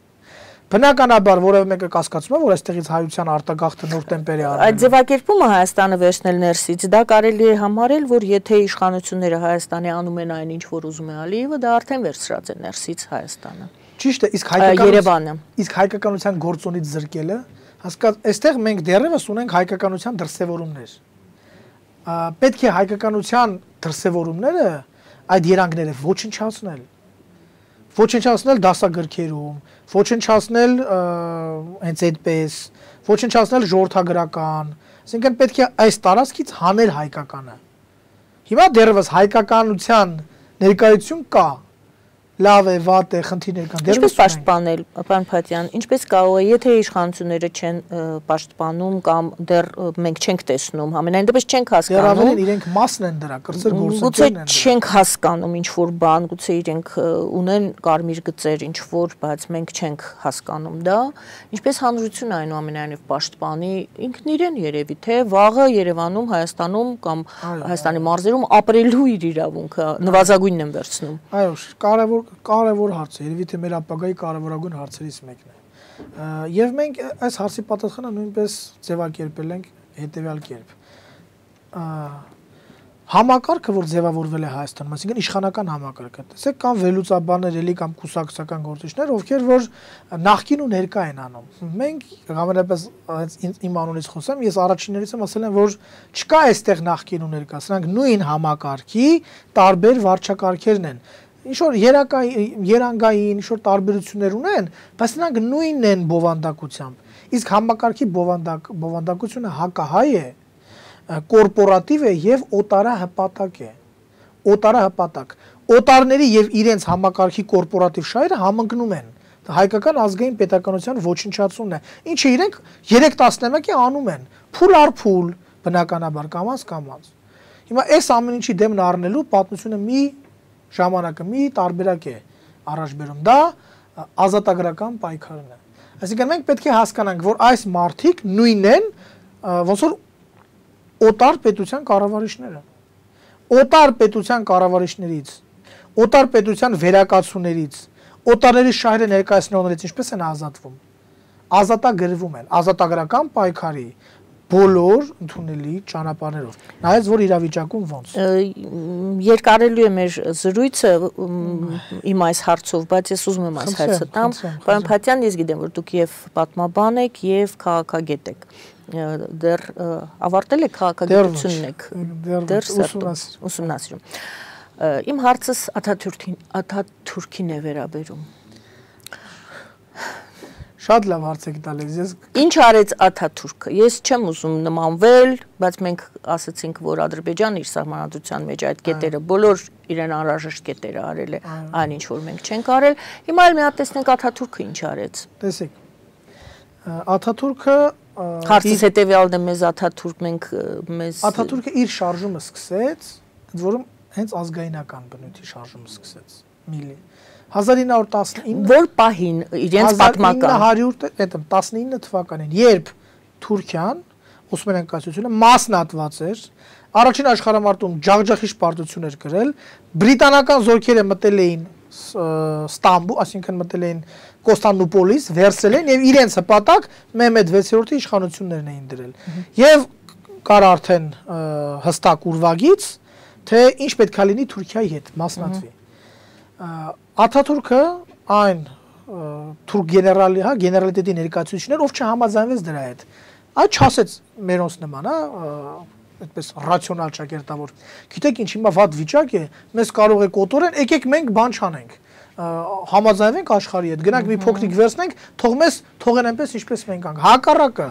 Բնականաբար որևէ մեկը կասկածում է, որ այստեղից հայության արտագաղթը նոր տեմպերի արվում է։ Այդ ձևակերպումը Հայաստանը վերցնել ներսից, դա կարելի է համարել, որ եթե իշխանությունները Հայաստանի անում են այն ինչ որ ուզում է Ալիևը, դա արդեն վերցրած է ներսից Հայաստանը։ Ճիշտ է, իսկ հայկականության գործոնից զրկելը, հասկացա, այստեղ մենք դեռևս ունենք հայկականության դրսևորումներ։ Պետք է հայկականության դրսևորումները այդ երանգները ոչնչացնել դասագրքերում, ոչնչացնել հենց այդպես, ոչնչացնել ժողովրդագրական, այսինքն պետք է այս տարածքից հանել հայկականը։ Հիմա դեռևս հայկականության ներկայություն կա, լավ է, վատ է, խնդիրներ կան։ Ինչպես պաշտպանել, պարոն Փաթյան, ինչպես կարող է, եթե իշխանությունները չեն պաշտպանում կամ դեռ մենք չենք տեսնում, համենայն դեպս չենք հասկանում։ Դեռ ավելի իրենք մասն են դրա, կրծեր գործընկերներն են։ Գուցե չենք հասկանում ինչ որ բան, գուցե իրենք ունեն կարմիր գծեր ինչ որ, բայց մենք չենք հասկանում դա, ինչպես հանրությունը այնուամենայնիվ պաշտպանի ինքն իրեն երևի, թե վաղը Երևանում, Հայաստանում կամ Հայաստանի մարզերում ապրելու իր իրավունքը նվազագույնն են վերցնում։ Այո, կարևոր հարց է, երևի թե մեր ապագայի կարևորագույն հարցերից մեկն է։ Եվ մենք այս հարցի պատասխանը նույնպես ձևակերպել ենք հետևյալ կերպ։ Համակարգը, որ ձևավորվել է Հայաստանում, այսինքն իշխանական համակարգը, տեսեք, կան վերլուծաբաններ էլի կամ կուսակցական գործիչներ, ովքեր որ նախկին ու ներկա են անում։ Մենք համենայնպես իմ անունից խոսեմ, ես առաջիններից եմ ասել եմ, որ չկա այստեղ նախկին ու ներկա, սրանք նույն համակարգի տարբեր վարչակարգերն են։ Ինչ որ երանգային, ինչ որ տարբերություններ ունեն, բայց նրանք նույնն են բովանդակությամբ։ Իսկ համակարգի բովանդակությունը հակահայ է, կորպորատիվ է եւ օտարահպատակ է։ Օտարահպատակ։ Օտարների եւ իրենց համակարգի կորպորատիվ շահերը համընկնում են։ Հայկական ազգային պետականության ոչնչացումն է։ Ինչը իրենք 3 տասնամյակի անում են, փուլ առ փուլ, բնականաբար կամած։ Հիմա այս ամեն ինչի դեմն առնելու պատմությունը մի ժամանակը մի տարբերակ է առաջ բերում, դա ազատագրական պայքարն է։ Այսինքն մենք պետք է հասկանանք, որ այս մարդիկ նույնն են, ոնց որ օտար պետության կառավարիչները։ Օտար պետության կառավարիչներից, օտար պետության վերակացուներից, օտարների շահերը ներկայացնողներից ինչպես են ազատվում։ Ազատագրվում են, ազատագրական պայքարի բոլոր ընդունելի ճանապարհներով։ Նայած որ իրավիճակում ոնց։ Երկարելու է մեր զրույցը իմ այս հարցով, բայց ես ուզում եմ այս հարցը տամ։ Պարոն Փաթյան, ես գիտեմ, որ դուք եւ պատմաբան եք եւ քաղաքագետ եք։ Դեռ ավարտել եք քաղաքագիտությունն եք։ Դեռ ուսումնասիրում։ Իմ հարցս Աթաթուրքին է վերաբերում։ Շատ լավ հարց եք տալիս, ես Ինչ արեց Աթաթուրքը։ Ես չեմ ուզում նմանվել, բայց մենք ասացինք, որ Ադրբեջանը իր սահմանադրության մեջ այդ կետերը բոլոր իրեն անհրաժեշտ կետերը արել է, այն ինչ որ մենք չենք արել։ Հիմա էլ մի հատ տեսնենք Աթաթուրքը ինչ արեց։ Տեսեք։ Աթաթուրքը Հարցս հետևյալն է, մեզ Աթաթուրք մենք մեզ Աթաթուրքը իր շարժումը սկսեց, ընդ որում հենց ազգայնական բնույթի շարժումը սկսեց։ Միլի 1919 Որ պահին իրենց պատմական 1919 թվականին, երբ Թուրքիան, Օսմանյան կայսրությունը մասնատված էր, առաջին աշխարհամարտում ջախջախիչ պարտություն էր կրել, բրիտանական զորքերը մտել էին Ստամբուլ, այսինքն մտել էին Կոստանդնուպոլիս, վերցրել են եւ իրենց հպատակ Մեհմեդ 6-րդի իշխանություններն էին դրել։ Եվ կար արդեն հստակ ուրվագիծ, թե ինչ պետք է լինի Թուրքիայի հետ մասնատվի։ Աթաթուրքը այն թուրք գեներալի, հա, գեներալիտետի ներկայացուցիչներ, ով չհամաձայնվեց դրա հետ։ Այդ չասեց մերոնց նման, հա, այդպես ռացիոնալ ճակերտավոր։ Գիտեք ինչ, հիմա վատ վիճակ է, մեզ կարող է կոտորեն, եկեք մենք բան չանենք։ Համաձայնվենք աշխարհի հետ, գնանք մի փոքրիկ վերցնենք, թող մեզ թողեն այնպես ինչպես մենք անք։ Հակառակը։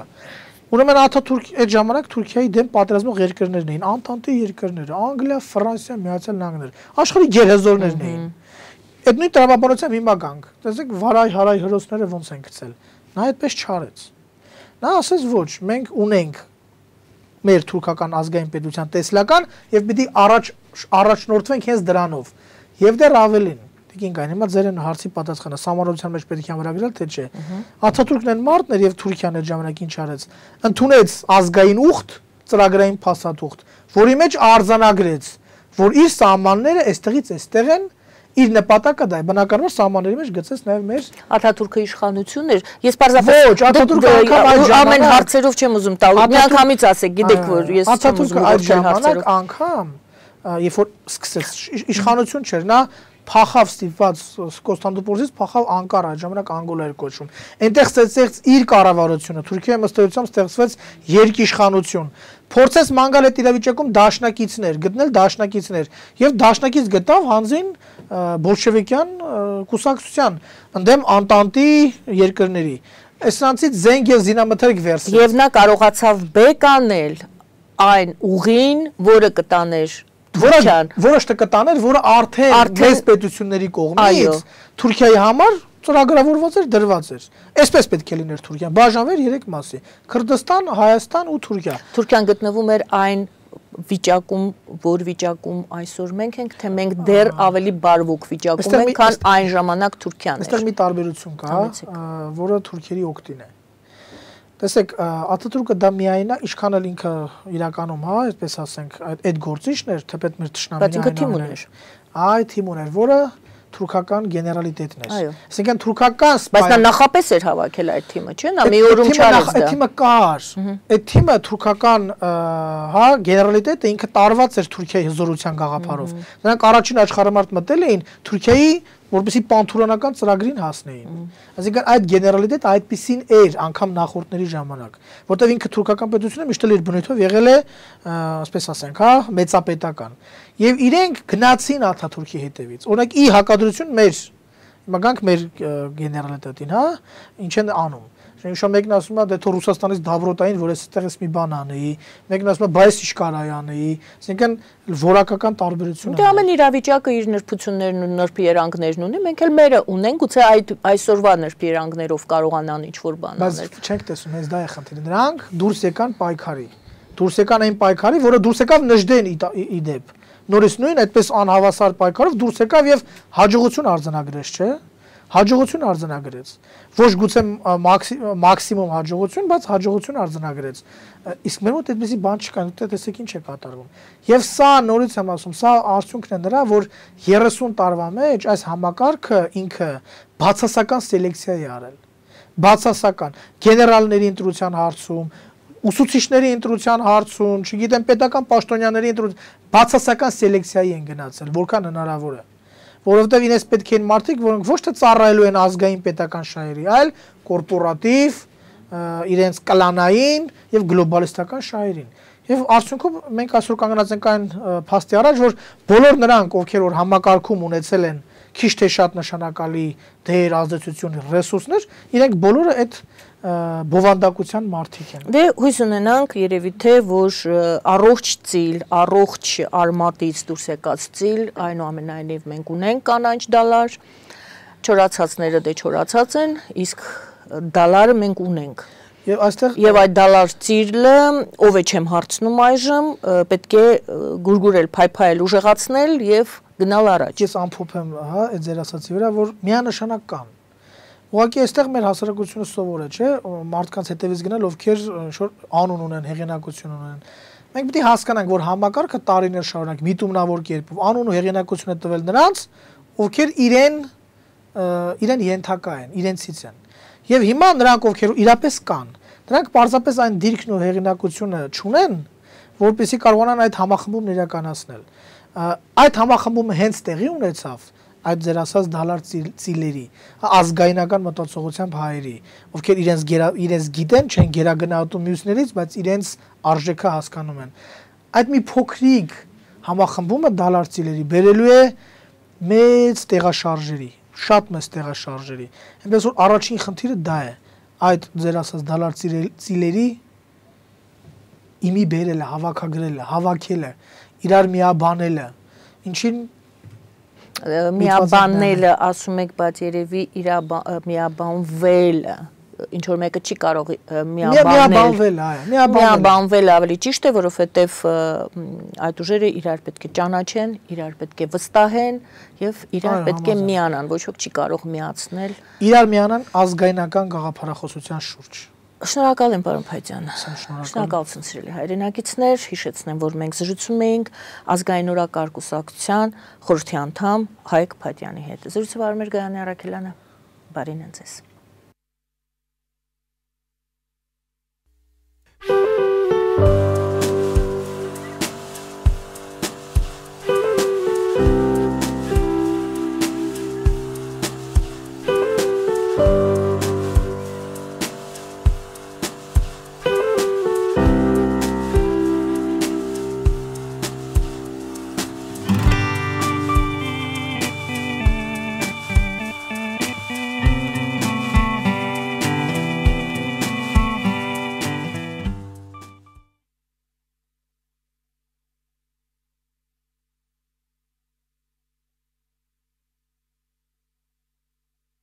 Ուրեմն Աթաթուրք այդ ժամանակ Թուրքիայի դեմ պատերազմող երկրներն էին, Անտանտի երկրները, Անգլիա, Ֆրանսիա, Միացյալ Նահանգներ, աշխարհի գերհզորներն էին։ Այդ նույն տրամաբանությամբ հիմա գանք։ Տեսեք, վարայ-հարայ հրոսները ոնց են գցել։ Նա այդպես չարեց։ Նա ասեց ոչ, մենք ունենք մեր թուրքական ազգային պետության տեսլական եւ պիտի առաջնորդվենք հենց դրանով։ Եվ դեռ ավելին, Տիկին կային, հիմա ձեր են հարցի պատասխանը, սահմանադրության մեջ պետք է ամրագրել, թե չէ։ Աթաթուրքն են մարդն էր եւ Թուրքիան այդ ժամանակ ինչ արեց։ Ընդունեց ազգային ուխտ, ծրագրային փաստաթուղթ, որի մեջ արձանագրեց, որ իր սահմանները այստեղից այստեղ են, իր նպատակը դա է, բնականաբար սահմանների մեջ գծեց նաև մեր Աթաթուրքը իշխանություն էր։ Ես պարզապես ոչ, Աթաթուրքը ամեն հարցերով չեմ ուզում տալ։ Միանգամից ասեք, գիտեք որ ես չեմ ուզում այդ ժամանակ անգամ, երբ որ սկսեց իշխանություն չէր, նա փախավ ստիպված Կոստանդնուպոլից փախավ Անկարա, այդ ժամանակ Անգոլա էր կոչվում։ Այնտեղ ստեղծեց իր կառավարությունը, Թուրքիայի ըստեյությամբ ստեղծվեց երկիշխանություն։ Փորձեց մանգալ այդ իրավիճակում դաշնակիցներ, գտնել դաշնակիցներ եւ դաշնակից գտավ հանձին բոլշևիկյան կուսակցության, ընդդեմ Անտանտի երկրների։ Այսրանցից զենք եւ զինամթերք վերցրեց։ Եվ նա կարողացավ բեկանել այն ուղին, որը կտաներ որը կտաներ, որը արդեն մեծ պետությունների կողմից Թուրքիայի համար ծրագրավորված էր, դրված էր։ Այսպես պետք է լիներ Թուրքիան, բաժանվեր 3 մասի՝ Քրդստան, Հայաստան ու Թուրքիա։ Թուրքիան գտնվում էր այն վիճակում, որ վիճակում այսօր մենք ենք, թե մենք դեռ ավելի բարվոք վիճակում ենք, քան այն ժամանակ Թուրքիան էր։ Այստեղ մի տարբերություն կա, որը թուրքերի օգտին է։ Տեսեք, Աթաթուրքը դա միայն է, ինչքան էլ ինքը իրականում, հա, այսպես ասենք, այդ գործիչն էր, թեպետ մեր թշնամին այն էր։ Այ թիմուն էր, որը թուրքական գեներալիտետն էր։ Այո։ Այսինքն թուրքական բայց նա նախապես էր հավաքել այդ թիմը, չէ՞, նա մի օրում չարեց դա։ Այդ թիմը կար։ Այդ թիմը թուրքական, հա, գեներալիտետը ինքը տարված էր Թուրքիայի հզորության գաղափարով։ Նրանք առաջին աշխարհամարտ մտել էին Թուրքիայի, որպեսզի պանթուրքանական ծրագրին հասնեին։ Այսինքն այդ գեներալիտետը այդպեսին էր անգամ նախորդների ժամանակ, որտեղ ինքը թուրքական պետությունը միշտ էլ իր բնույթով եղել է, ասպես ասենք, հա, մեծապետական։ Եվ իրենք գնացին Աթաթուրքի հետևից։ Օրինակ ի հակադրություն մեր, հիմա գանք մեր գեներալիտետին, հա, ինչ են անում։ Շնչո մեկն ասում է, դե թող Ռուսաստանից դավրոտային, որ այստեղից մի բան անեի, մեկն ասում է, բայց ինչ կարայի անեի, այսինքն որակական տարբերություն է։ Դե ամեն իրավիճակը իր նրբություններն ու նրբերանգներն ունի, մենք էլ մերը ունենք, գուցե այդ այսօրվա նրբերանգներով կարողանան ինչ-որ բան անել։ Բայց չենք տեսնում, հենց դա է խնդիրը։ Նրանք դուրս եկան պայքարի։ Դուրս եկան այն պայքարի, որը դուրս եկավ Նժդեն իդեպ։ Նորից նույն այդպես անհավասար պայքարով դուրս եկավ եւ հաջողություն արձանագրեց, չէ՞։ Հաջողություն արձանագրեց։ Ոչ գուցե մաքսիմում հաջողություն, բայց հաջողություն արձանագրեց։ Իսկ մեր մոտ այդպեսի բան չկա, դե տեսեք ինչ է կատարվում։ Եվ սա նորից եմ ասում, սա արդյունքն է նրա, որ 30 տարվա մեջ այս համակարգը ինքը բացասական սելեկցիա է արել։ Բացասական գեներալների ընտրության հարցում, ուսուցիչների ընտրության հարցում, չգիտեմ, պետական պաշտոնյաների ընտրության բացասական սելեկցիայի են գնացել, որքան հնարավոր է։ Որովհետև իրենց պետք են մարդիկ, որոնք ոչ թե ծառայելու են ազգային պետական շահերի, այլ կորպորատիվ, իրենց կլանային եւ գլոբալիստական շահերին։ Եվ արդյունքում մենք այսօր կանգնած ենք այն փաստի առաջ, որ բոլոր նրանք, ովքեր որ համակարգում ունեցել են քիչ թե շատ նշանակալի դեր, ազդեցություն, ռեսուրսներ, իրենք բոլորը այդ բովանդակության մարդիկ են։ Դե հույս ունենանք երևի թե որ առողջ ծիլ, առողջ արմատից դուրս եկած ծիլ, այնուամենայնիվ մենք ունենք կանաչ դալար, չորացածները դե չորացած են, իսկ դալարը մենք ունենք։ Եվ այդ դալար ծիլը, ով է չեմ հարցնում այժմ, պետք է գուրգուրել, փայփայել, ուժեղացնել եւ գնալ առաջ։ Ես ամփոփ եմ, հա, այդ ձեր ասացի վրա, որ միանշանակ կան։ Ուղղակի այստեղ մեր հասարակությունը սովոր է, չէ, մարդկանց հետևից գնալ, ովքեր ինչ-որ անուն ունեն, հեղինակություն ունեն։ Մենք պետք է հասկանանք, որ համակարգը տարիներ շարունակ միտումնավոր կերպով անուն ու հեղինակություն է տվել նրանց, ովքեր իրեն ենթակա են, իրենցից են։ Եվ հիմա նրանք, ովքեր իրապես կան, նրանք պարզապես այն դիրքն ու հեղինակությունը չունեն, որպեսզի կարողանան այդ համախմբումն իրականացնել։ Այդ համախմբումը հենց տեղի ունեցավ այդ ձեր ասած դալար ծիլերի, ազգայնական մտածողությամբ հայերի, ովքեր իրենց գիտեն, չեն գերագնահատում մյուսներից, բայց իրենց արժեքը հասկանում են։ Այդ մի փոքրիկ համախմբումը դալար ծիլերի բերելու է մեծ տեղաշարժերի, շատ մեծ տեղաշարժերի։ Այնպես որ առաջին խնդիրը դա է, այդ ձեր ասած դալար ծիլերի իմի բերելը, հավաքագրելը, հավաքելը, իրար միաբանելը, ինչին միաբանելը ասում եք, բայց երևի իր միաբանվելը ինչ որ մեկը չի կարող միաբանվել ավելի ճիշտ է, որովհետև այդ ուժերը իրար պետք է ճանաչեն, իրար պետք է վստահեն եւ իրար պետք է միանան, ոչ ոք չի կարող միացնել։ Իրար միանան ազգայնական գաղափարախոսության շուրջ։ Շնորհակալ եմ, պարոն Փայտյան։ Շնորհակալություն, սիրելի հայրենակիցներ, հիշեցնեմ, որ մենք զրուցում էինք ազգային օրակարգ կուսակցության խորհրդի անդամ Հայկ Փայտյանի հետ։ Զրույցը վարում էր Գայանե Առաքելյանը։ Բարին ձեզ։